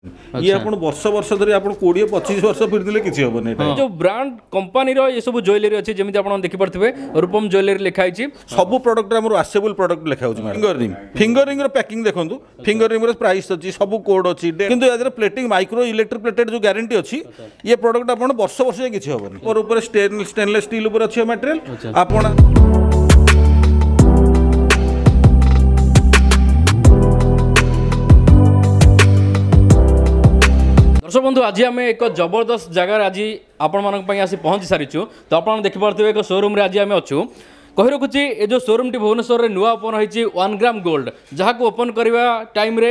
ଇଏ ଆପଣ ବର୍ଷ ବର୍ଷ ଧରି ଆପଣ 20-25 ବର୍ଷ ପିନ୍ଧିଲେ କିଛି ହେବନି। ଏଇଟା ଯେଉଁ ବ୍ରାଣ୍ଡ କମ୍ପାନୀର ଏସବୁ ଜୁଏଲାରୀ ଅଛି, ଯେମିତି ଆପଣ ଦେଖିପାରୁଥିବେ ରୂପମ ଜୁଏଲାରୀ ଲେଖା ହେଇଛି। ସବୁ ପ୍ରଡକ୍ଟରେ ଆମର ୱାସେବଲ୍ ପ୍ରଡକ୍ଟ ଲେଖା ହେଉଛି। ଫିଙ୍ଗର ରିଙ୍ଗ, ଫିଙ୍ଗର ରିଙ୍ଗର ପ୍ୟାକିଂ ଦେଖନ୍ତୁ, ଫିଙ୍ଗର ରିଙ୍ଗର ପ୍ରାଇସ୍ ଅଛି, ସବୁ କୋଡ୍ ଅଛି। କିନ୍ତୁ ୟା ଦେହରେ ପ୍ଲେଟିଂ ମାଇକ୍ରୋ ଇଲେକ୍ଟ୍ରିକ୍ ପ୍ଲେଟେଡ୍ ଯେଉଁ ଗ୍ୟାରେଣ୍ଟି ଅଛି, ଇଏ ପ୍ରଡକ୍ଟ ଆପଣ ବର୍ଷ ବର୍ଷ ଯାଏ କିଛି ହେବନି। ମୋର ଉପରେ ଷ୍ଟେନଲେସ୍ ଷ୍ଟିଲ୍ ଉପରେ ଅଛି ମ୍ୟାଟେରିଆଲ ଆପଣ। ଦର୍ଶକ ବନ୍ଧୁ, ଆଜି ଆମେ ଏକ ଜବରଦସ୍ତ ଜାଗାରେ ଆଜି ଆପଣମାନଙ୍କ ପାଇଁ ଆସି ପହଞ୍ଚି ସାରିଛୁ। ତ ଆପଣ ଦେଖିପାରୁଥିବେ ଏକ ସୋରୁମ୍ରେ ଆଜି ଆମେ ଅଛୁ। କହି ରଖୁଛି, ଏ ଯେଉଁ ସୋରୁମ୍ଟି ଭୁବନେଶ୍ୱରରେ ନୂଆ ଓପନ୍ ହୋଇଛି 1 ଗ୍ରାମ ଗୋଲ୍ଡ, ଯାହାକୁ ଓପନ୍ କରିବା ଟାଇମ୍ରେ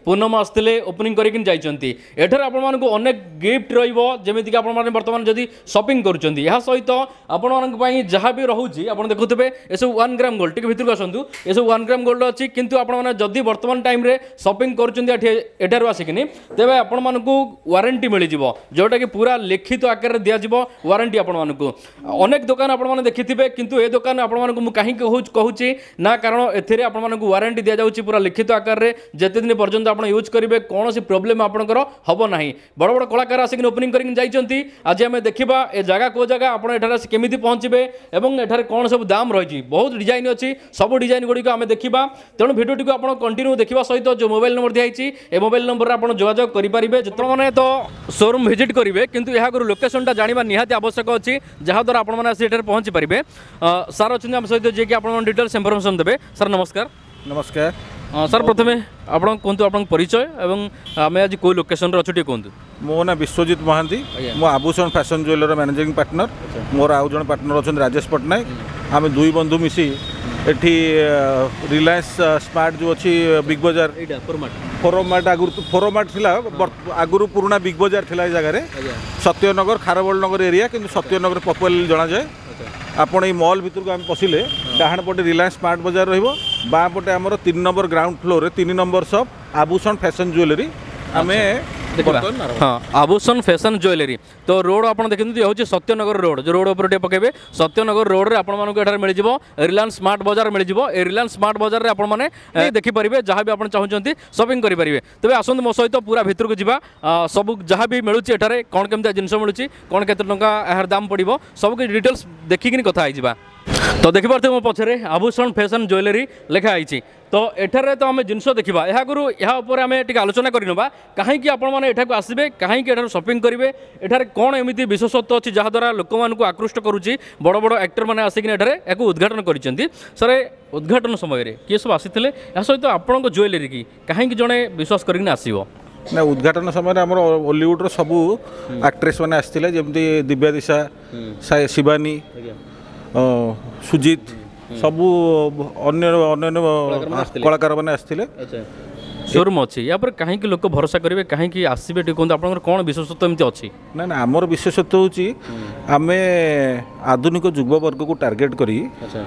ପୂନମ ଆସିଥିଲେ, ଓପନିଂ କରିକି ଯାଇଛନ୍ତି। ଏଠାରେ ଆପଣମାନଙ୍କୁ ଅନେକ ଗିଫ୍ଟ ରହିବ, ଯେମିତିକି ଆପଣମାନେ ବର୍ତ୍ତମାନ ଯଦି ସପିଂ କରୁଛନ୍ତି, ଏହା ସହିତ ଆପଣମାନଙ୍କ ପାଇଁ ଯାହା ବି ରହୁଛି ଆପଣ ଦେଖୁଥିବେ ଏସବୁ 1 ଗ୍ରାମ ଗୋଲ୍ଡ। ଟିକେ ଭିତରକୁ ଆସନ୍ତୁ। ଏସବୁ 1 ଗ୍ରାମ ଗୋଲ୍ଡ ଅଛି, କିନ୍ତୁ ଆପଣମାନେ ଯଦି ବର୍ତ୍ତମାନ ଟାଇମ୍ରେ ସପିଂ କରୁଛନ୍ତି ଏଠି ଏଠାରୁ ଆସିକିନି, ତେବେ ଆପଣମାନଙ୍କୁ ୱାରେଣ୍ଟି ମିଳିଯିବ, ଯେଉଁଟାକି ପୁରା ଲିଖିତ ଆକାରରେ ଦିଆଯିବ ୱାରେଣ୍ଟି ଆପଣମାନଙ୍କୁ। ଅନେକ ଦୋକାନ ଆପଣମାନେ ଦେଖିଥିବେ, କିନ୍ତୁ ଏ ଦୋକାନ ଆପଣମାନଙ୍କୁ ମୁଁ କାହିଁକି କହୁଛି ନା, କାରଣ ଏଥିରେ ଆପଣମାନଙ୍କୁ ୱାରେଣ୍ଟି ଦିଆଯାଉଛି ପୁରା ଲିଖିତ ଆକାରରେ। ଯେତେ ଦିନ ପର୍ଯ୍ୟନ୍ତ ଆପଣ ୟୁଜ୍ କରିବେ କୌଣସି ପ୍ରୋବ୍ଲେମ୍ ଆପଣଙ୍କର ହେବ ନାହିଁ। ବଡ଼ ବଡ଼ କଳାକାର ଆସିକି ଓପନିଂ କରିକି ଯାଇଛନ୍ତି। ଆଜି ଆମେ ଦେଖିବା ଏ ଜାଗା କେଉଁ ଜାଗା, ଆପଣ ଏଠାରେ ଆସି କେମିତି ପହଞ୍ଚିବେ ଏବଂ ଏଠାରେ କ'ଣ ସବୁ ଦାମ ରହିଛି। ବହୁତ ଡିଜାଇନ୍ ଅଛି, ସବୁ ଡିଜାଇନ୍ ଗୁଡ଼ିକ ଆମେ ଦେଖିବା। ତେଣୁ ଭିଡ଼ିଓଟିକୁ ଆପଣ କଣ୍ଟିନ୍ୟୁ ଦେଖିବା ସହିତ ଯେଉଁ ମୋବାଇଲ ନମ୍ବର ଦିଆହେଇଛି, ଏ ମୋବାଇଲ ନମ୍ବରରେ ଆପଣ ଯୋଗାଯୋଗ କରିପାରିବେ। ଯେତେବେଳେ ତ ସୋରୁମ୍ ଭିଜିଟ୍ କରିବେ, କିନ୍ତୁ ଏହା ଆଗରୁ ଲୋକେସନଟା ଜାଣିବା ନିହାତି ଆବଶ୍ୟକ ଅଛି, ଯାହାଦ୍ୱାରା ଆପଣମାନେ ଆସି ଏଠାରେ ପହଞ୍ଚି ପାରିବେ। ସାର୍ ଅଛନ୍ତି ଆମ ସହିତ, ଯିଏକି ଆପଣଙ୍କ ଡିଟେଲ୍ସ ଇନଫର୍ମେସନ୍ ଦେବେ। ସାର୍ ନମସ୍କାର। ନମସ୍କାର ସାର୍। ପ୍ରଥମେ ଆପଣ କୁହନ୍ତୁ ଆପଣଙ୍କ ପରିଚୟ ଏବଂ ଆମେ ଆଜି କେଉଁ ଲୋକେସନରେ ଅଛୁ ଟିକେ କୁହନ୍ତୁ। ମୋ ନାଁ ବିଶ୍ୱଜିତ ମହାନ୍ତି, ମୁଁ ଆଭୂଷଣ ଫ୍ୟାସନ୍ ଜୁଏଲର ମ୍ୟାନେଜିଂ ପାର୍ଟନର। ମୋର ଆଉ ଜଣେ ପାର୍ଟନର ଅଛନ୍ତି ରାଜେଶ ପଟ୍ଟନାୟକ। ଆମେ ଦୁଇ ବନ୍ଧୁ ମିଶି ଏଠି ରିଲାଏନ୍ସ ସ୍ମାର୍ଟ ଯେଉଁ ଅଛି ବିଗ୍ ବଜାର, ଫୋରମ୍ ମାର୍ଟ, ଆଗରୁ ଫୋରମ୍ ମାର୍ଟ ଥିଲା, ଆଗରୁ ପୁରୁଣା ବିଗ୍ ବଜାର ଥିଲା ଏ ଜାଗାରେ, ସତ୍ୟନଗର ଖାରବେଳ ନଗର ଏରିଆ, କିନ୍ତୁ ସତ୍ୟନଗର ପପୁଲାର ଜଣାଯାଏ। ଆପଣ ଏଇ ମଲ୍ ଭିତରକୁ ଆମେ ପଶିଲେ ଡାହାଣ ପଟେ ରିଲାଏନ୍ସ ସ୍ମାର୍ଟ ବଜାର ରହିବ, ବାଁ ପଟେ ଆମର 3 ନମ୍ବର ଗ୍ରାଉଣ୍ଡ ଫ୍ଲୋରରେ 3 ନମ୍ବର ସପ୍ ଆଭୂଷଣ ଫ୍ୟାସନ୍ ଜୁଏଲାରୀ। ଆମେ ହଁ, ଆଭୂଷଣ ଫ୍ୟାସନ୍ ଜୁଏଲାରୀ। ତ ରୋଡ଼ ଆପଣ ଦେଖନ୍ତୁ, ହେଉଛି ସତ୍ୟନଗର ରୋଡ଼। ଯେଉଁ ରୋଡ଼ ଉପରେ ଟିକେ ପକାଇବେ, ସତ୍ୟନଗର ରୋଡ଼ରେ ଆପଣମାନଙ୍କୁ ଏଠାରେ ମିଳିଯିବ ରିଲାଏନ୍ସ ସ୍ମାର୍ଟ ବଜାର ମିଳିଯିବ। ଏ ରିଲାଏନ୍ସ ସ୍ମାର୍ଟ ବଜାରରେ ଆପଣମାନେ ଦେଖିପାରିବେ, ଯାହା ବି ଆପଣ ଚାହୁଁଛନ୍ତି ସପିଂ କରିପାରିବେ। ତେବେ ଆସନ୍ତୁ ମୋ ସହିତ ପୁରା ଭିତରକୁ ଯିବା। ସବୁ ଯାହା ବି ମିଳୁଛି ଏଠାରେ, କ'ଣ କେମିତି ଜିନିଷ ମିଳୁଛି, କ'ଣ କେତେ ଟଙ୍କା ଏହାର ଦାମ ପଡ଼ିବ, ସବୁ କିଛି ଡିଟେଲ୍ସ ଦେଖିକିନି କଥା ହେଇଯିବା। ତ ଦେଖିପାରୁଥିବେ ମୋ ପଛରେ ଆଭୂଷଣ ଫ୍ୟାସନ୍ ଜୁଏଲାରୀ ଲେଖା ହେଇଛି। ତ ଏଠାରେ ତ ଆମେ ଜିନିଷ ଦେଖିବା, ଏହା ଆଗରୁ ଏହା ଉପରେ ଆମେ ଟିକେ ଆଲୋଚନା କରିନେବା, କାହିଁକି ଆପଣମାନେ ଏଠାକୁ ଆସିବେ, କାହିଁକି ଏଠାରୁ ସପିଂ କରିବେ, ଏଠାରେ କ'ଣ ଏମିତି ବିଶେଷତ୍ୱ ଅଛି ଯାହାଦ୍ୱାରା ଲୋକମାନଙ୍କୁ ଆକୃଷ୍ଟ କରୁଛି। ବଡ଼ ବଡ଼ ଆକ୍ଟରମାନେ ଆସିକିନି ଏଠାରେ ଏହାକୁ ଉଦ୍ଘାଟନ କରିଛନ୍ତି। ସାର୍, ଉଦ୍ଘାଟନ ସମୟରେ କିଏ ସବୁ ଆସିଥିଲେ, ଏହା ସହିତ ଆପଣଙ୍କ ଜୁଏଲାରୀ କି କାହିଁକି ଜଣେ ବିଶ୍ୱାସ କରିକିନି ଆସିବ? ନା, ଉଦ୍ଘାଟନ ସମୟରେ ଆମର ଓଲିଉଡ଼ର ସବୁ ଆକ୍ଟ୍ରେସ୍ ମାନେ ଆସିଥିଲେ, ଯେମିତି ଦିବ୍ୟା ଦିଶା, ଶିବାନୀ, ସୁଜିତ, ସବୁ ଅନ୍ୟ ଅନ୍ୟାନ୍ୟ କଳାକାରମାନେ ଆସିଥିଲେ। ସୋରୁମ୍ ଅଛି, ୟା ପରେ କାହିଁକି ଲୋକ ଭରସା କରିବେ, କାହିଁକି ଆସିବେ, ଟିକେ କୁହନ୍ତୁ ଆପଣଙ୍କର କ'ଣ ବିଶେଷତ୍ୱ ଏମିତି ଅଛି? ନା ନା, ଆମର ବିଶେଷତ୍ୱ ହେଉଛି ଆମେ ଆଧୁନିକ ଯୁବବର୍ଗକୁ ଟାର୍ଗେଟ୍ କରି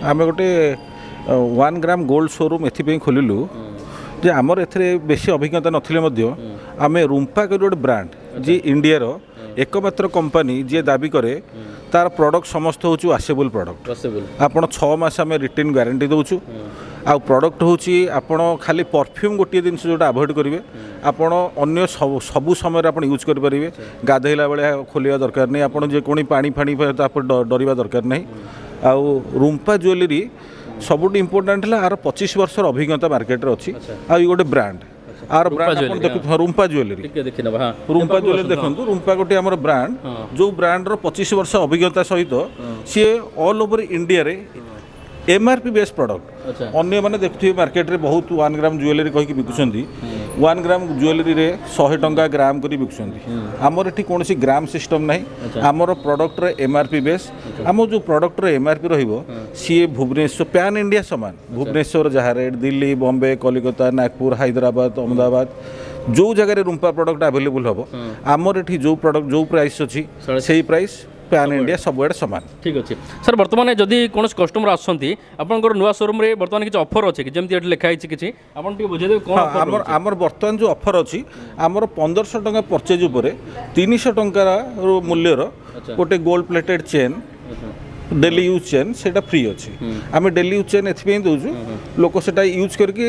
ଆମେ ଗୋଟେ 1 ଗ୍ରାମ ଗୋଲ୍ଡ ସୋରୁମ୍ ଏଥିପାଇଁ ଖୋଲିଲୁ ଯେ ଆମର ଏଥିରେ ବେଶୀ ଅଭିଜ୍ଞତା ନଥିଲେ ମଧ୍ୟ ଆମେ ରୁମ୍ପା କରି ଗୋଟେ ବ୍ରାଣ୍ଡ, ଯିଏ ଇଣ୍ଡିଆର ଏକମାତ୍ର କମ୍ପାନୀ ଯିଏ ଦାବି କରେ ତାର ପ୍ରଡ଼କ୍ଟ ସମସ୍ତ ହେଉଛି ୱାସେବୁଲ୍ ପ୍ରଡ଼କ୍ଟ। ଆପଣ 6 ମାସ ଆମେ ରିଟର୍ନ ଗ୍ୟାରେଣ୍ଟି ଦେଉଛୁ। ଆଉ ପ୍ରଡ଼କ୍ଟ ହେଉଛି ଆପଣ ଖାଲି ପରଫ୍ୟୁମ୍ ଗୋଟିଏ ଜିନିଷ ଯେଉଁଟା ଆଭଏଡ଼ କରିବେ, ଆପଣ ଅନ୍ୟ ସବୁ ସମୟରେ ଆପଣ ୟୁଜ୍ କରିପାରିବେ। ଗାଧୋଇଲା ବେଳେ ଖୋଲିବା ଦରକାର ନାହିଁ, ଆପଣ ଯେକୌଣସି ପାଣି ଫାଣି ତାପରେ ଡରିବା ଦରକାର ନାହିଁ। ଆଉ ରୁମ୍ପା ଜୁଏଲାରୀ ସବୁଠୁ ଇମ୍ପୋର୍ଟାଣ୍ଟ ହେଲା ଆର 25 ବର୍ଷର ଅଭିଜ୍ଞତା ମାର୍କେଟରେ ଅଛି। ଆଉ ଇଏ ଗୋଟେ ବ୍ରାଣ୍ଡ, ଆର ବ୍ରାଣ୍ଡ ଆପଣ ଦେଖୁ ରୁମ୍ପା ଜୁଏଲାରୀ, ରୁମ୍ପା ଜୁଏଲାରୀ ଦେଖନ୍ତୁ, ରୁମ୍ପା ଗୋଟେ ଆମର ବ୍ରାଣ୍ଡ, ଯେଉଁ ବ୍ରାଣ୍ଡର 25 ବର୍ଷ ଅଭିଜ୍ଞତା ସହିତ ସିଏ ଅଲ୍ ଓଭର ଇଣ୍ଡିଆରେ M R P base product. ଅନ୍ୟମାନେ ଦେଖୁଥିବେ ମାର୍କେଟରେ ବହୁତ 1 ଗ୍ରାମ ଜୁଏଲାରୀ କହିକି ବିକୁଛନ୍ତି, 1 ଗ୍ରାମ ଜୁଏଲାରୀରେ 100 ଟଙ୍କା ଗ୍ରାମ କରି ବିକୁଛନ୍ତି। ଆମର ଏଠି କୌଣସି ଗ୍ରାମ ସିଷ୍ଟମ୍ ନାହିଁ। ଆମର ପ୍ରଡ଼କ୍ଟର ଏମ୍ ଆର୍ ପି ବେସ୍, ଆମ ଯେଉଁ ପ୍ରଡ଼କ୍ଟର ଏମ୍ ଆର୍ ପି ରହିବ ସିଏ ଭୁବନେଶ୍ୱର ପ୍ୟାନ୍ ଇଣ୍ଡିଆ ସମାନ। ଭୁବନେଶ୍ୱର ଯାହା ରେଟ୍, ଦିଲ୍ଲୀ, ବମ୍ବେ, କଲିକତା, ନାଗପୁର, ହାଇଦ୍ରାବାଦ, ଅହମ୍ମଦାବାଦ, ଯେଉଁ ଜାଗାରେ ରୁମ୍ପା ପ୍ରଡ଼କ୍ଟ ଆଭେଲେବୁଲ୍ ହେବ, ଆମର ଏଠି ଯେଉଁ ପ୍ରଡ଼କ୍ଟ ଯେଉଁ ପ୍ରାଇସ୍ ଅଛି ସେଇ ପ୍ରାଇସ୍ ପ୍ୟାନ୍ ଇଣ୍ଡିଆ ସବୁଆଡ଼େ ସମାନ। ଠିକ୍ ଅଛି ସାର୍। ବର୍ତ୍ତମାନ ଯଦି କୌଣସି କଷ୍ଟମର ଆସୁଛନ୍ତି ଆପଣଙ୍କର ନୂଆ ସୋରୁମ୍ରେ, ବର୍ତ୍ତମାନ କିଛି ଅଫର୍ ଅଛି କି? ଯେମିତି ଏଠି ଲେଖା ହେଇଛି କିଛି, ଆପଣ ଟିକେ ବୁଝେଇଦେବେ କ'ଣ? ଆମର ବର୍ତ୍ତମାନ ଯେଉଁ ଅଫର୍ ଅଛି, ଆମର 1500 ଟଙ୍କା ପରଚେଜ୍ ଉପରେ 300 ଟଙ୍କାର ମୂଲ୍ୟର ଗୋଟେ gold plated chain daily use chain ସେଇଟା ଫ୍ରି ଅଛି। ଆମେ ଡେଲି ୟୁଜ୍ ଚେନ୍ ଏଥିପାଇଁ ଦେଉଛୁ, ଲୋକ ସେଟା ୟୁଜ୍ କରିକି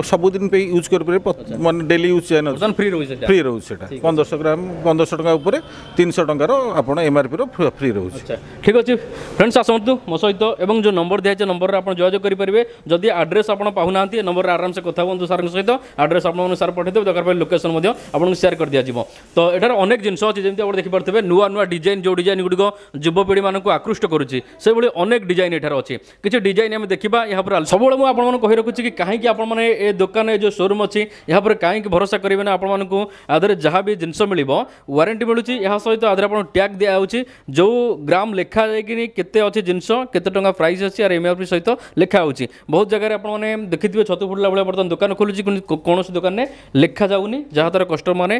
ସବୁଦିନ ପାଇଁ ୟୁଜ୍ କରିପାରିବେ, ମାନେ ଡେଲି ୟୁଜ୍ ଚେନ୍ ଅଛି। ଫ୍ରି ରହୁଛି ସେଟା? ଫ୍ରି ରହୁଛି ସେଟା। 1500 ଗ୍ରାମ, 1500 ଟଙ୍କା ଉପରେ 300 ଟଙ୍କାର ଆପଣ ଏମ୍ଆର୍ପିର ଫ୍ରି ରହୁଛି। ଆଚ୍ଛା, ଠିକ୍ ଅଛି ଫ୍ରେଣ୍ଡସ୍, ଆସନ୍ତୁ ମୋ ସହିତ ଏବଂ ଯେଉଁ ନମ୍ବର ଦିଆଯାଇଛି ନମ୍ବରରେ ଆପଣ ଯୋଗାଯୋଗ କରିପାରିବେ। ଯଦି ଆଡ୍ରେସ୍ ଆପଣ ପାଉନାହାନ୍ତି, ଏ ନମ୍ବରରେ ଆରାମସେ କଥା ହୁଅନ୍ତୁ ସାର୍ଙ୍କ ସହିତ, ଆଡ୍ରେସ୍ ଆପଣଙ୍କୁ ସାର୍ ପଠାଇଦେବେ, ଦରକାର ପଡ଼ିଲେ ଲୋକେସନ୍ ମଧ୍ୟ ଆପଣଙ୍କୁ ସେୟାର କରିଦିଆଯିବ। ତ ଏଠାରେ ଅନେକ ଜିନିଷ ଅଛି, ଯେମିତି ଆପଣ ଦେଖିପାରୁଥିବେ ନୂଆ ନୂଆ ଡିଜାଇନ୍, ଯେଉଁ ଡିଜାଇନ୍ ଗୁଡ଼ିକ ଯୁବପିଢ଼ିମାନଙ୍କୁ ଆକୃଷ୍ଟ କରୁଛି ସେଭଳି ଅନେକ ଡିଜାଇନ୍ ଏଠାରେ ଅଛି। କିଛି ଡିଜାଇନ୍ ଆମେ ଦେଖିବା ଏହା ଉପରେ। ସବୁବେଳେ ମୁଁ ଆପଣମାନଙ୍କୁ କହି ରଖୁଛି କି କାହିଁକି ଆପଣମାନେ ଏ ଦୋକାନ, ଏ ଯେଉଁ ସୋରୁମ୍ ଅଛି ଏହା ଉପରେ କାହିଁକି ଭରସା କରିବେ ନା, ଆପଣମାନଙ୍କୁ ଆଦେହରେ ଯାହା ବି ଜିନିଷ ମିଳିବ ୱାରେଣ୍ଟି ମିଳୁଛି, ଏହା ସହିତ ଆଦେହରେ ଆପଣ ଟ୍ୟାଗ୍ ଦିଆହେଉଛି, ଯେଉଁ ଗ୍ରାମ ଲେଖା ଯାଇକିନି କେତେ ଅଛି ଜିନିଷ, କେତେ ଟଙ୍କା ପ୍ରାଇସ୍ ଅଛି, ଆର ଏମ୍ଆର୍ପି ସହିତ ଲେଖା ହେଉଛି। ବହୁତ ଜାଗାରେ ଆପଣମାନେ ଦେଖିଥିବେ ଛତୁ ଫୁଟିଲା ଭଳିଆ ବର୍ତ୍ତମାନ ଦୋକାନ ଖୋଲୁଛି, କିନ୍ତୁ କୌଣସି ଦୋକାନରେ ଲେଖାଯାଉନି, ଯାହାଦ୍ୱାରା କଷ୍ଟମରମାନେ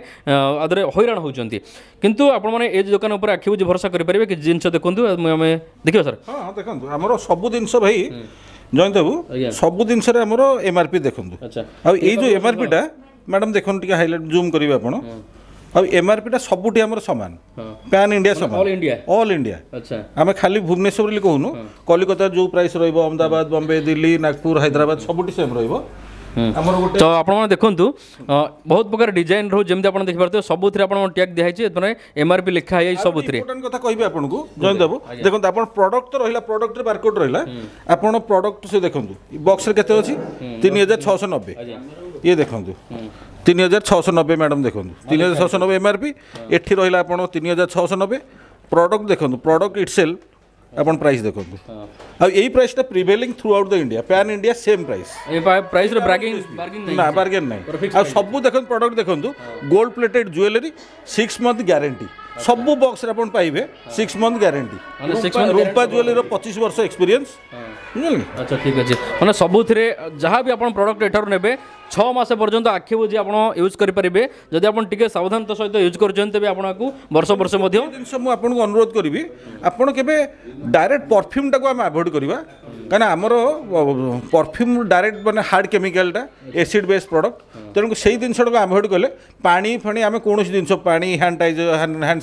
ଆଦେହରେ ହଇରାଣ ହେଉଛନ୍ତି। କିନ୍ତୁ ଆପଣମାନେ ଏ ଦୋକାନ ଉପରେ ଆଖି ବୁଜି ଭରସା କରିପାରିବେ। କିଛି ଜିନିଷ ଦେଖନ୍ତୁ, ଆମେ ଦେଖିବା ସାର୍। ହଁ ହଁ, ଦେଖନ୍ତୁ ଆମର ସବୁ ଜିନିଷ ଭାଇ ଜୟନ୍ତ ବାବୁ, ସବୁ ଜିନିଷରେ ଆମର ଏମ୍ଆର୍ପି ଦେଖନ୍ତୁ। ଆଉ ଏଇ ଯେଉଁ ଏମ୍ଆର୍ପିଟା ମ୍ୟାଡ଼ାମ୍ ଦେଖନ୍ତୁ, ଟିକେ ହାଇଲାଇଟ୍ ଜୁମ୍ କରିବେ ଆପଣ। ଆଉ ଏମ୍ଆର୍ପିଟା ସବୁଠି ଆମର ସମାନ, ପ୍ୟାନ୍ ଇଣ୍ଡିଆ ସମାନ, ଅଲ୍ ଇଣ୍ଡିଆ। All India. ଆମେ ଖାଲି ଭୁବନେଶ୍ୱର ବୋଲି କହୁନୁ, କଲିକତା ଯେଉଁ ପ୍ରାଇସ୍ ରହିବ, ଅହମ୍ମଦାବାଦ, ବମ୍ବେ, ଦିଲ୍ଲୀ, ନାଗପୁର, ହାଇଦ୍ରାବାଦ ସବୁଠି ସେମ୍ ରହିବ। ଆମର ଗୋଟେ ତ ଆପଣମାନେ ଦେଖନ୍ତୁ ବହୁତ ପ୍ରକାର ଡିଜାଇନ୍ ରହୁଛି, ଯେମିତି ଆପଣ ଦେଖିପାରୁଥିବେ ସବୁଥିରେ ଆପଣ ଟ୍ୟାଗ୍ ଦିଆହେଇଛି, ମାନେ ଏମ୍ଆର୍ପି ଲେଖା ହେଇଯାଇଛି ସବୁଥିରେ। ଇମ୍ପୋର୍ଟାଣ୍ଟ କଥା କହିବି ଆପଣଙ୍କୁ ଜୟନ୍ତ ବାବୁ, ଦେଖନ୍ତୁ ଆପଣ ପ୍ରଡକ୍ଟ ତ ରହିଲା, ପ୍ରଡକ୍ଟରେ ବାରକୋଡ୍ ରହିଲା, ଆପଣ ପ୍ରଡକ୍ଟ ସେ ଦେଖନ୍ତୁ ବକ୍ସରେ କେତେ ଅଛି, 3690। ଇଏ ଦେଖନ୍ତୁ 3690 ମ୍ୟାଡ଼ାମ୍ ଦେଖନ୍ତୁ 3690 ଏମ୍ଆର୍ପି, ଏଠି ରହିଲା ଆପଣ 3690। ପ୍ରଡକ୍ଟ ଦେଖନ୍ତୁ, ପ୍ରଡକ୍ଟ ଇଟସେଲ୍ଫ ଆପଣ ପ୍ରାଇସ୍ ଦେଖନ୍ତୁ। ଆଉ ଏଇ ପ୍ରାଇସ୍ଟା prevailing throughout the India, pan India same price. A ପ୍ରାଇସ୍ର bargain ନା, ବାର୍ଗେନ୍ ନାହିଁ। ଆଉ ସବୁ ଦେଖନ୍ତୁ ପ୍ରଡକ୍ଟ ଦେଖନ୍ତୁ, gold plated jewellery 6 month guarantee, ସବୁ ବକ୍ସରେ ଆପଣ ପାଇବେ 6 ମନ୍ଥ ଗ୍ୟାରେଣ୍ଟି। ରୂପା ଜୁଏଲାରୀର 25 ବର୍ଷ ଏକ୍ସପିରିଏନ୍ସ, ବୁଝିଲେ? ଆଚ୍ଛା, ଠିକ୍ ଅଛି। ମାନେ ସବୁଥିରେ ଯାହା ବି ଆପଣ ପ୍ରଡକ୍ଟ ଏଠାରୁ ନେବେ 6 ମାସ ପର୍ଯ୍ୟନ୍ତ ଆଖି ବୁଜି ଆପଣ ୟୁଜ୍ କରିପାରିବେ। ଯଦି ଆପଣ ଟିକେ ସାବଧାନତା ସହିତ ୟୁଜ୍ କରୁଛନ୍ତି ତେବେ ଆପଣଙ୍କୁ ବର୍ଷ ବର୍ଷ ମଧ୍ୟ। ଜିନିଷ ମୁଁ ଆପଣଙ୍କୁ ଅନୁରୋଧ କରିବି, ଆପଣ କେବେ ଡାଇରେକ୍ଟ ପରଫ୍ୟୁମ୍ଟାକୁ ଆମେ ଆଭଏଡ଼ କରିବା, କାହିଁକିନା ଆମର ପରଫ୍ୟୁମ୍ ଡାଇରେକ୍ଟ ମାନେ ହାର୍ଡ଼ କେମିକାଲଟା, ଏସିଡ୍ ବେସ୍ ପ୍ରଡ଼କ୍ଟ, ତେଣୁ ସେଇ ଜିନିଷଟାକୁ ଆଭଏଡ଼ କଲେ ପାଣି ଫାଣି ଆମେ କୌଣସି ଜିନିଷ ପାଣି, ହ୍ୟାଣ୍ଡ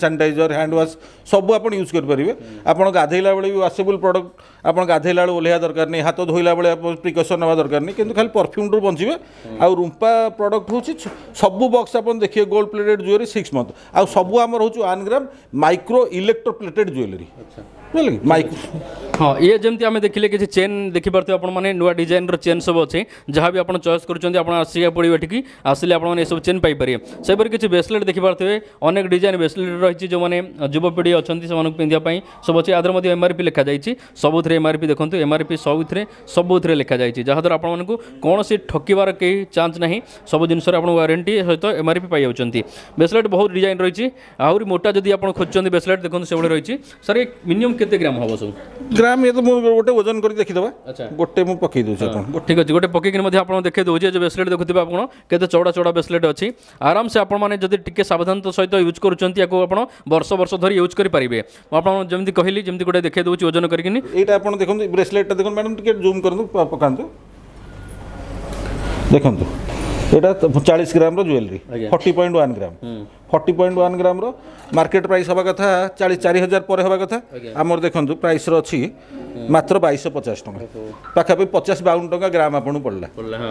ସାନିଟାଇଜର, ହ୍ୟାଣ୍ଡ ୱାଶ୍ ସବୁ ଆପଣ ୟୁଜ୍ କରିପାରିବେ। ଆପଣ ଗାଧେଇଲା ବେଳେ ବି ୱାସେବୁଲ୍ ପ୍ରଡ଼କ୍ଟ, ଆପଣ ଗାଧେଇଲା ବେଳେ ଓହ୍ଲେଇବା ଦରକାର ନାହିଁ, ହାତ ଧୋଇଲା ବେଳେ ପ୍ରିକସନ୍ ନେବା ଦରକାର ନାହିଁ, କିନ୍ତୁ ଖାଲି ପରଫ୍ୟୁମ୍ଠୁ ବଞ୍ଚିବେ। ଆଉ ରୁମ୍ପା ପ୍ରଡ଼କ୍ଟ ହେଉଛି ସବୁ ବକ୍ସ ଆପଣ ଦେଖିବେ ଗୋଲ୍ଡ ପ୍ଲେଟେଡ୍ ଜୁଏଲାରୀ 6 ମନ୍ଥ। ଆଉ ସବୁ ଆମର ହେଉଛି 1 ଗ୍ରାମ ମାଇକ୍ରୋ ଇଲେକ୍ଟ୍ରୋ ପ୍ଲେଟେଡ୍ ଜୁଏଲାରୀ, ବୁଝିଲେ କି ମାଇକ୍ରୋ। ହଁ, ଇଏ ଯେମିତି ଆମେ ଦେଖିଲେ କିଛି ଚେନ୍ ଦେଖିପାରୁଥିବେ ଆପଣମାନେ, ନୂଆ ଡିଜାଇନର ଚେନ୍ ସବୁ ଅଛି, ଯାହା ବି ଆପଣ ଚଏସ୍ କରୁଛନ୍ତି ଆପଣ ଆସିବାକୁ ପଡ଼ିବ ଏଠିକି, ଆସିଲେ ଆପଣମାନେ ଏସବୁ ଚେନ୍ ପାଇପାରିବେ। ସେହିପରି କିଛି ବ୍ରେସଲେଟ୍ ଦେଖିପାରୁଥିବେ, ଅନେକ ଡିଜାଇନ୍ ବ୍ରେସଲେଟ୍ ରହିଛି, ଯେଉଁମାନେ ଯୁବପିଢ଼ି ଅଛନ୍ତି ସେମାନଙ୍କୁ ପିନ୍ଧିବା ପାଇଁ ସବୁ ଅଛି। ଆଦେହରେ ମଧ୍ୟ ଏମ୍ଆର୍ପି ଲେଖାଯାଇଛି, ସବୁଥିରେ ଏମ୍ଆର୍ପି ଦେଖନ୍ତୁ, ଏମ୍ଆର୍ପି ସବୁଥିରେ ଲେଖାଯାଇଛି, ଯାହାଦ୍ୱାରା ଆପଣମାନଙ୍କୁ କୌଣସି ଠକିବାର କେହି ଚାନ୍ସ ନାହିଁ। ସବୁ ଜିନିଷରେ ଆପଣ ୱାରେଣ୍ଟି ସହିତ ଏମ୍ଆର୍ପି ପାଇଯାଉଛନ୍ତି। ବ୍ରେସଲେଟ୍ ବହୁତ ଡିଜାଇନ୍ ରହିଛି, ଆହୁରି ମୋଟା ଯଦି ଆପଣ ଖୋଜୁଛନ୍ତି ବ୍ରେସଲେଟ୍ ଦେଖନ୍ତୁ ସେଭଳି ରହିଛି। ସାର୍, ଏ ମିନିମମ୍ କେତେ ଗ୍ରାମ ହେବ ସବୁ? ଗ୍ରାମ ଇଏ ତ ମୁଁ ଗୋଟେ ଓଜନ କରି ଦେଖିଦେବା, ଗୋଟେ ମୁଁ ପକେଇ ଦେଉଛି ଆପଣ। ଠିକ୍ ଅଛି, ଗୋଟେ ପକେଇକିନି ମଧ୍ୟ ଆପଣ ଦେଖେଇ ଦେଉଛି। ଏ ଯେଉଁ ବ୍ରେସଲେଟ୍ ଦେଖୁଥିବେ ଆପଣ କେତେ ଚଉଡ଼ା ଚଉଡ଼ା ବ୍ରେସଲେଟ୍ ଅଛି, ଆରାମସେ ଆପଣମାନେ ଯଦି ଟିକେ ସାବଧାନତା ସହିତ ୟୁଜ୍ କରୁଛନ୍ତି ୟାକୁ ଆପଣ ବର୍ଷ ବର୍ଷ ଧରି ୟୁଜ୍ କରିପାରିବେ। ମୁଁ ଆପଣ ଯେମିତି କହିଲି ଯେମିତି ଗୋଟେ ଦେଖେଇ ଦେଉଛି ଓଜନ କରିକିନି। ଏଇଟା ଆପଣ ଦେଖନ୍ତୁ ବ୍ରେସଲେଟ୍ଟା ଦେଖନ୍ତୁ ମ୍ୟାଡ଼ାମ୍, ଟିକେ ଜୁମ୍ କରନ୍ତୁ, ପକାନ୍ତୁ, ଦେଖନ୍ତୁ ଏଇଟା 40 ଗ୍ରାମର ଜୁଏଲାରୀ, 40.1 ଗ୍ରାମ, 40.1 ଗ୍ରାମର ମାର୍କେଟ ପ୍ରାଇସ୍ ହେବା କଥା 44,000 ପରେ ହେବା କଥା, ଆମର ଦେଖନ୍ତୁ ପ୍ରାଇସ୍ର ଅଛି ମାତ୍ର 2250 ଟଙ୍କା, ପାଖାପାଖି 50-52 ଟଙ୍କା ଗ୍ରାମ ଆପଣଙ୍କୁ ପଡ଼ିଲା।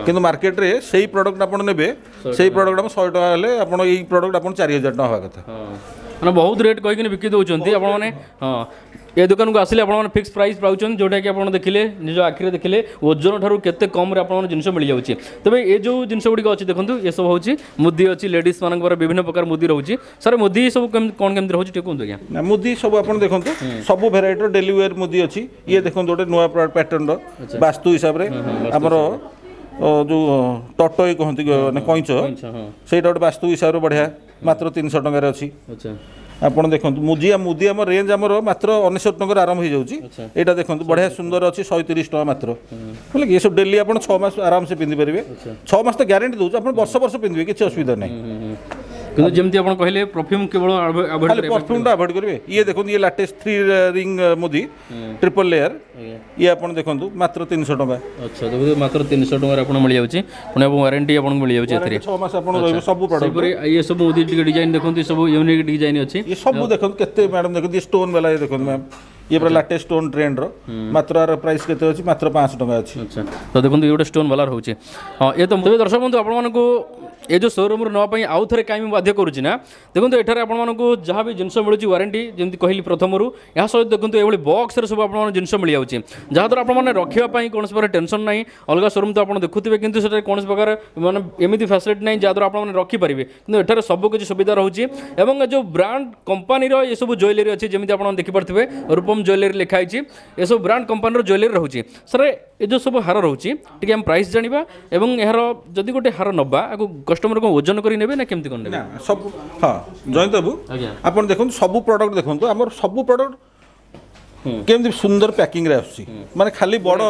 କିନ୍ତୁ ମାର୍କେଟରେ ସେଇ ପ୍ରଡ଼କ୍ଟ ଆପଣ ନେବେ, ସେଇ ପ୍ରଡ଼କ୍ଟ ଆପଣ 100 ଟଙ୍କା ହେଲେ ଆପଣ ଏଇ ପ୍ରଡ଼କ୍ଟ ଆପଣ 4000 ଟଙ୍କା ହେବା କଥା। ମାନେ ବହୁତ ରେଟ୍ କହିକିନି ବିକି ଦେଉଛନ୍ତି ଆପଣମାନେ। ହଁ, ଏ ଦୋକାନକୁ ଆସିଲେ ଆପଣମାନେ ଫିକ୍ସ ପ୍ରାଇସ୍ ପାଉଛନ୍ତି, ଯେଉଁଟାକି ଆପଣ ଦେଖିଲେ ନିଜ ଆଖିରେ ଦେଖିଲେ ଓଜନ ଠାରୁ କେତେ କମ୍ରେ ଆପଣଙ୍କ ଜିନିଷ ମିଳିଯାଉଛି। ତେବେ ଏ ଯେଉଁ ଜିନିଷ ଗୁଡ଼ିକ ଅଛି ଦେଖନ୍ତୁ, ଏସବୁ ହେଉଛି ମୁଦି ଅଛି, ଲେଡ଼ିଜ୍ ମାନଙ୍କର ବିଭିନ୍ନ ପ୍ରକାର ମୁଦି ରହୁଛି। ସାର୍, ମୁଦି ସବୁ କ'ଣ କେମିତି ରହୁଛି ଟିକେ କୁହନ୍ତୁ ଆଜ୍ଞା। ନା, ମୁଦି ସବୁ ଆପଣ ଦେଖନ୍ତୁ ସବୁ ଭେରାଇଟିର ଡେଲି ୱେର୍ ମୁଦି ଅଛି। ଇଏ ଦେଖନ୍ତୁ ଗୋଟେ ନୂଆ ପ୍ୟାଟର୍ନର ବାସ୍ତୁ ହିସାବରେ ଆମର ଯେଉଁ ଟଟୋଇ କହନ୍ତି, ମାନେ କଇଁଚ, ସେଇଟା ଗୋଟେ ବାସ୍ତୁ ହିସାବରେ ବଢ଼ିଆ, ମାତ୍ର 300 ଟଙ୍କାରେ ଅଛି। ଆପଣ ଦେଖନ୍ତୁ ମୁଦି, ମୁଦି ଆମ ରେଞ୍ଜ ଆମର ମାତ୍ର 99 ଟଙ୍କାରେ ଆରମ୍ଭ ହେଇଯାଉଛି। ଏଇଟା ଦେଖନ୍ତୁ ବଢ଼ିଆ ସୁନ୍ଦର ଅଛି, 130 ଟଙ୍କା ମାତ୍ର, ବୁଝିଲେ କି? ଏସବୁ ଡେଲି ଆପଣ 6 ମାସ ଆରାମସେ ପିନ୍ଧିପାରିବେ, 6 ମାସ ତ ଗ୍ୟାରେଣ୍ଟି ଦେଉଛୁ, ଆପଣ ବର୍ଷ ବର୍ଷ ପିନ୍ଧିବେ, କିଛି ଅସୁବିଧା ନାହିଁ। କିନ୍ତୁ ଯେମିତି ଆପଣ କହିଲେ ପରଫ୍ୟୁମ୍ କେବଳ ଖାଲି ପରଫ୍ୟୁମ୍ଟା ଆଭଏଡ଼ କରିବେ। ଇଏ ଦେଖନ୍ତୁ ଇଏ ଲାଟେଷ୍ଟ 3 ରିଙ୍ଗ ମୁଦି, ଟ୍ରିପଲ୍ ଲେୟାର, ଇଏ ଆପଣ ଦେଖନ୍ତୁ ମାତ୍ର 300 ଟଙ୍କା। ଆଚ୍ଛା, ଦେଖନ୍ତୁ ମାତ୍ର 300 ଟଙ୍କାରେ ଆପଣ ମିଳିଯାଉଛି, ପୁଣି ଆପଣ ୱାରେଣ୍ଟି ଆପଣଙ୍କୁ ମିଳିଯାଉଛି ଏଥିରେ 6 ମାସ ଆପଣ ରହିବ ସବୁ ପ୍ରଡ଼କ୍ଟ। ସେହିପରି ଇଏ ସବୁ ମୁଦି ଟିକେ ଡିଜାଇନ୍ ଦେଖନ୍ତୁ, ସବୁ ୟୁନିକ୍ ଡିଜାଇନ୍ ଅଛି। ଇଏ ସବୁ ଦେଖନ୍ତୁ କେତେ ମ୍ୟାଡ଼ାମ୍ ଦେଖନ୍ତୁ, ଇଏ ଷ୍ଟୋନ୍ ବାଲା, ଇଏ ଦେଖନ୍ତୁ ମ୍ୟାମ୍, ଇଏ ପୁରା ଲାଟେଷ୍ଟ ଷ୍ଟୋନ୍ ଟ୍ରେଣ୍ଡର। ମାତ୍ର ଆର ପ୍ରାଇସ୍ କେତେ ଅଛି? ମାତ୍ର 500 ଟଙ୍କା ଅଛି। ଆଚ୍ଛା, ତ ଦେଖନ୍ତୁ, ଇଏ ଗୋଟେ ଷ୍ଟୋନ୍ ବାଲା ରହୁଛି। ହଁ, ଏ ତ ତେବେ ଦର୍ଶକ ବନ୍ଧୁ, ଆପଣମାନଙ୍କୁ ଏ ଯେଉଁ ସୋରୁମ୍ରୁ ନେବା ପାଇଁ ଆଉ ଥରେ କାହିଁ ମୁଁ ବାଧ୍ୟ କରୁଛି ନା, ଦେଖନ୍ତୁ, ଏଠାରେ ଆପଣମାନଙ୍କୁ ଯାହା ବି ଜିନିଷ ମିଳୁଛି ୱାରେଣ୍ଟି, ଯେମିତି କହିଲି ପ୍ରଥମରୁ। ଏହା ସହିତ ଦେଖନ୍ତୁ, ଏଭଳି ବକ୍ସରେ ସବୁ ଆପଣମାନଙ୍କୁ ଜିନିଷ ମିଳିଯାଉଛି, ଯାହାଦ୍ୱାରା ଆପଣମାନେ ରଖିବା ପାଇଁ କୌଣସି ପ୍ରକାର ଟେନସନ୍ ନାହିଁ। ଅଲଗା ସୋରୁମ୍ ତ ଆପଣ ଦେଖୁଥିବେ, କିନ୍ତୁ ସେଠାରେ କୌଣସି ପ୍ରକାର ମାନେ ଏମିତି ଫ୍ୟାସିଲିଟି ନାହିଁ ଯାହାଦ୍ୱାରା ଆପଣମାନେ ରଖିପାରିବେ। କିନ୍ତୁ ଏଠାରେ ସବୁ କିଛି ସୁବିଧା ରହୁଛି ଏବଂ ଏ ଯେଉଁ ବ୍ରାଣ୍ଡ କମ୍ପାନୀର ଏସବୁ ଜୁଏଲାରୀ ଅଛି, ଯେମିତି ଆପଣ ଦେଖିପାରୁଥିବେ ରୂପମ ଜୁଏଲାରୀ ଲେଖା ହେଇଛି, ଏସବୁ ବ୍ରାଣ୍ଡ କମ୍ପାନୀର ଜୁଏଲାରୀ ରହୁଛି। ସାର୍, ଏ ଯେଉଁ ସବୁ ହାର ରହୁଛି, ଟିକେ ଆମେ ପ୍ରାଇସ୍ ଜାଣିବା ଏବଂ ଏହାର ଯଦି ଗୋଟେ ହାର ନେବା, ଆକୁ କଷ୍ଟମର କ'ଣ ଓଜନ କରି ନେବେ ନା କେମିତି କ'ଣ ନେବେ? ନା, ସବୁ, ହଁ ଜୟନ୍ତ ବାବୁ। ଆଜ୍ଞା। ଆପଣ ଦେଖନ୍ତୁ, ସବୁ ପ୍ରଡକ୍ଟ ଦେଖନ୍ତୁ, ଆମର ସବୁ ପ୍ରଡକ୍ଟ କେମିତି ସୁନ୍ଦର ପ୍ୟାକିଂରେ ଆସୁଛି। ମାନେ ଖାଲି ବଡ଼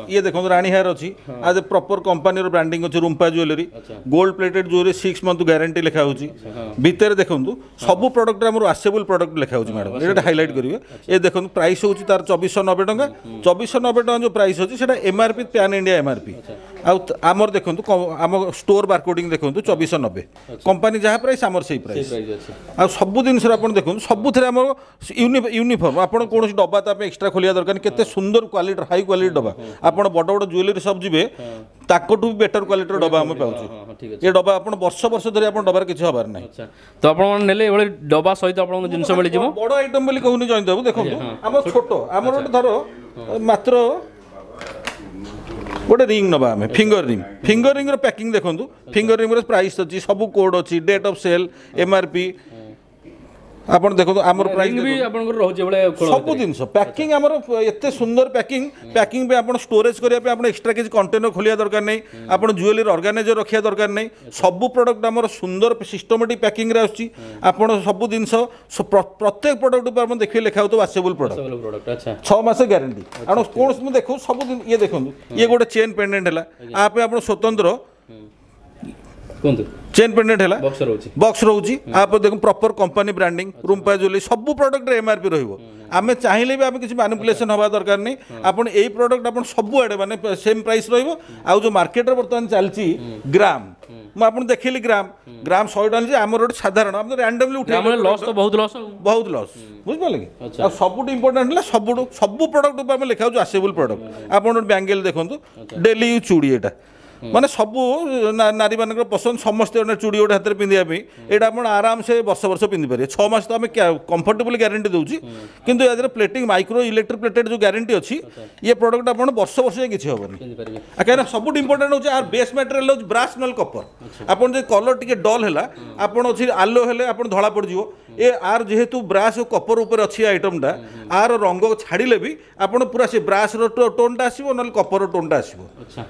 ଇଏ ଦେଖନ୍ତୁ, ରାଣୀହାର ଅଛି, ଆଜ ଏ ପ୍ରପର କମ୍ପାନୀର ବ୍ରାଣ୍ଡିଂ ଅଛି, ରୁମ୍ପା jewellery, gold plated jewellery, 6 month guarantee ଲେଖା ହେଉଛି। ଭିତରେ ଦେଖନ୍ତୁ, ସବୁ ପ୍ରଡକ୍ଟରେ ଆମର ୱାସେବୁଲ୍ ପ୍ରଡକ୍ଟ ଲେଖା ହେଉଛି। ମ୍ୟାଡ଼ାମ, ଏଇଟା ହାଇଲାଇଟ୍ କରିବେ। ଏ ଦେଖନ୍ତୁ, ପ୍ରାଇସ୍ ହେଉଛି ତାର 2490 ଟଙ୍କା। 2490 ଟଙ୍କା ଯେଉଁ ପ୍ରାଇସ୍ ଅଛି, ସେଇଟା ଏମ୍ଆର୍ପି, ପ୍ୟାନ୍ ଇଣ୍ଡିଆ ଏମ୍ଆର୍ପି। ଆଉ ଆମର ଦେଖନ୍ତୁ, ଆମ ଷ୍ଟୋର ବାରକୋଡ଼ିଂ ଦେଖନ୍ତୁ, 2490। କମ୍ପାନୀ ଯାହା ପ୍ରାଇସ୍, ଆମର ସେଇ ପ୍ରାଇସ୍। ପ୍ରାଇସ୍ ଅଛି। ଆଉ ସବୁ ଜିନିଷରେ ଆପଣ ଦେଖନ୍ତୁ, ସବୁଥିରେ ଆମର ୟୁନିଫର୍ମ। ଆପଣ କୌଣସି ଡବା ତା ପାଇଁ ଏକ୍ସଟ୍ରା ଖୋଲିବା ଦରକାର ନାହିଁ। କେତେ ସୁନ୍ଦର କ୍ୱାଲିଟି, ହାଇ କ୍ୱାଲିଟି ଡବା। ଆପଣ ବଡ଼ ବଡ଼ ଜୁଏଲାରୀ ସପ୍ ଯିବେ, ତାଙ୍କଠୁ ବି ବେଟର କ୍ୱାଲିଟିର ଡବା ଆମେ ପାଉଛୁ। ହଁ ହଁ ଠିକ୍ ଅଛି। ଏ ଡବା ଆପଣ ବର୍ଷ ବର୍ଷ ଧରି ଆପଣ ଡବାରେ କିଛି ହବାର ନାହିଁ। ଆଚ୍ଛା, ତ ଆପଣମାନେ ନେଲେ ଏଭଳି ଡବା ସହିତ ଆପଣଙ୍କୁ ଜିନିଷ ମିଳିଯିବ। ବଡ଼ ଆଇଟମ୍ ବୋଲି କହୁନି ଜୟନ୍ତ ବାବୁ, ଦେଖନ୍ତୁ, ଆମର ଛୋଟ, ଆମର ଗୋଟେ ଧର ମାତ୍ର ଗୋଟେ ରିଙ୍ଗ ନେବା ଆମେ, ଫିଙ୍ଗର ରିଙ୍ଗ। ଫିଙ୍ଗର ରିଙ୍ଗର ପ୍ୟାକିଂ ଦେଖନ୍ତୁ। ଫିଙ୍ଗର ରିଙ୍ଗର ପ୍ରାଇସ୍ ଅଛି, ସବୁ କୋଡ୍ ଅଛି, ଡେଟ୍ ଅଫ୍ ସେଲ୍, ଏମ୍ଆର୍ପି। ଆପଣ ଦେଖନ୍ତୁ ଆମର ପ୍ରାଇସ୍ ରିଙ୍ଗ ବି ଆପଣଙ୍କର ରହୁଛି ଏଭଳିଆ ଖୋଳ ସବୁ ଜିନିଷ ପ୍ୟାକିଂ ଆମର ଏତେ ସୁନ୍ଦର ପ୍ୟାକିଂ। ପ୍ୟାକିଂ ପାଇଁ ଆପଣ ଷ୍ଟୋରେଜ୍ କରିବା ପାଇଁ ଆପଣ ଏକ୍ସଟ୍ରା କିଛି କଣ୍ଟେନର ଖୋଲିବା ଦରକାର ନାହିଁ, ଆପଣ ଜୁଏଲାରୀ ଅର୍ଗାନାଇଜର ରଖିବା ଦରକାର ନାହିଁ। ସବୁ ପ୍ରଡକ୍ଟ ଆମର ସୁନ୍ଦର ସିଷ୍ଟମେଟିକ୍ ପ୍ୟାକିଂରେ ଆସୁଛି। ଆପଣ ସବୁ ଜିନିଷ ପ୍ରତ୍ୟେକ ପ୍ରଡକ୍ଟ ଉପରେ ଆପଣ ଦେଖିବେ ଲେଖା ହେଉଥିବ ୱାସେବୁଲ୍ ପ୍ରଡକ୍ଟ। ପ୍ରଡକ୍ଟ, ଆଚ୍ଛା। 6 ମାସ ଗ୍ୟାରେଣ୍ଟି। ଆପଣ କୌଣସି, ମୁଁ ଦେଖୁ ସବୁ ଇଏ ଦେଖନ୍ତୁ, ଇଏ ଗୋଟେ ଚେନ୍ ପେଣ୍ଡେଣ୍ଟ ହେଲା। ଆ ପାଇଁ ଆପଣ ସ୍ୱତନ୍ତ୍ର କୁହନ୍ତୁ। ଚେନ୍ ପେଣ୍ଡେଣ୍ଟ ହେଲା। ବକ୍ସ ରହୁଛି। ବକ୍ସ ରହୁଛି। ତାପରେ ଦେଖନ୍ତୁ, ପ୍ରପର କମ୍ପାନୀ ବ୍ରାଣ୍ଡିଂ, ରୁମ୍ପା ଜୁଏଲାରୀ। ସବୁ ପ୍ରଡକ୍ଟରେ ଏମ୍ଆର୍ପି ରହିବ। ଆମେ ଚାହିଁଲେ ବି ଆମେ କିଛି ମାନୁପୁଲେସନ୍ ହେବା ଦରକାର ନାହିଁ। ଆପଣ ଏଇ ପ୍ରଡକ୍ଟ ଆପଣ ସବୁଆଡ଼େ ମାନେ ସେମ୍ ପ୍ରାଇସ୍ ରହିବ। ଆଉ ଯେଉଁ ମାର୍କେଟରେ ବର୍ତ୍ତମାନ ଚାଲିଛି ଗ୍ରାମ, ମୁଁ ଆପଣ ଦେଖିଲି ଗ୍ରାମ ଗ୍ରାମ 100 ଟଙ୍କା ଯେ ଆମର ଗୋଟେ ସାଧାରଣ ଆମେ ରାଣ୍ଡମଲି ଉଠେଇ ଆମର ଲସ୍ ତ ବହୁତ ଲସ୍ ଆଉ। ବହୁତ ଲସ୍, ବୁଝିପାରିଲେ କି? ଆଉ ସବୁଠୁ ଇମ୍ପୋର୍ଟାଣ୍ଟ ହେଲା, ସବୁଠୁ ସବୁ ପ୍ରଡକ୍ଟ ଉପରେ ଆମେ ଲେଖା ହେଉଛି ୱାସେବୁଲ୍ ପ୍ରଡକ୍ଟ। ଆପଣ ଗୋଟେ ବ୍ୟାଙ୍ଗେଲ ଦେଖନ୍ତୁ, ଡେଲି ୟୁଜ୍ ଚୁଡ଼ି। ଏଇଟା ମାନେ ସବୁ ନାରୀମାନଙ୍କର ପସନ୍ଦ, ସମସ୍ତେ ଗୋଟେ ଚୁଡ଼ି ଗୋଟେ ହାତରେ ପିନ୍ଧିବା ପାଇଁ। ଏଇଟା ଆପଣ ଆରାମସେ ବର୍ଷ ବର୍ଷ ପିନ୍ଧିପାରିବେ। 6 ମାସ ତ ଆମେ କମ୍ଫର୍ଟେବଲି ଗ୍ୟାରେଣ୍ଟି ଦେଉଛି, କିନ୍ତୁ ୟା ଦେହରେ ପ୍ଲେଟିଂ, ମାଇକ୍ରୋ ଇଲେକ୍ଟ୍ରିକ୍ ପ୍ଲେଟେଡ୍ ଯେଉଁ ଗ୍ୟାରେଣ୍ଟି ଅଛି, ଇଏ ପ୍ରଡକ୍ଟ ଆପଣ ବର୍ଷ ବର୍ଷ ଯାଏଁ କିଛି ହେବନି। ପିନ୍ଧିପାରିବେ। ଆଉ କାହିଁକିନା ସବୁଠୁ ଇମ୍ପୋର୍ଟାଣ୍ଟ ହେଉଛି ଆର ବେସ୍ ମ୍ୟାଟେରିଆଲ ହେଉଛି ବ୍ରାସ୍ ନହେଲେ କପର। ଆପଣ ଯଦି କଲର୍ ଟିକେ ଡଲ୍ ହେଲା, ଆପଣ ଅଛି ଆଲୋ ହେଲେ ଆପଣ ଧଳା ପଡ଼ିଯିବ। ଏ ଆର ଯେହେତୁ ବ୍ରାସ୍ ଓ କପର ଉପରେ ଅଛି ଆଇଟମଟା, ଆର ରଙ୍ଗ ଛାଡ଼ିଲେ ବି ଆପଣ ପୁରା ସେ ବ୍ରାସ୍ର ଟୋନ୍ଟା ଆସିବ, ନହେଲେ କପର ଟୋନ୍ଟା ଆସିବ।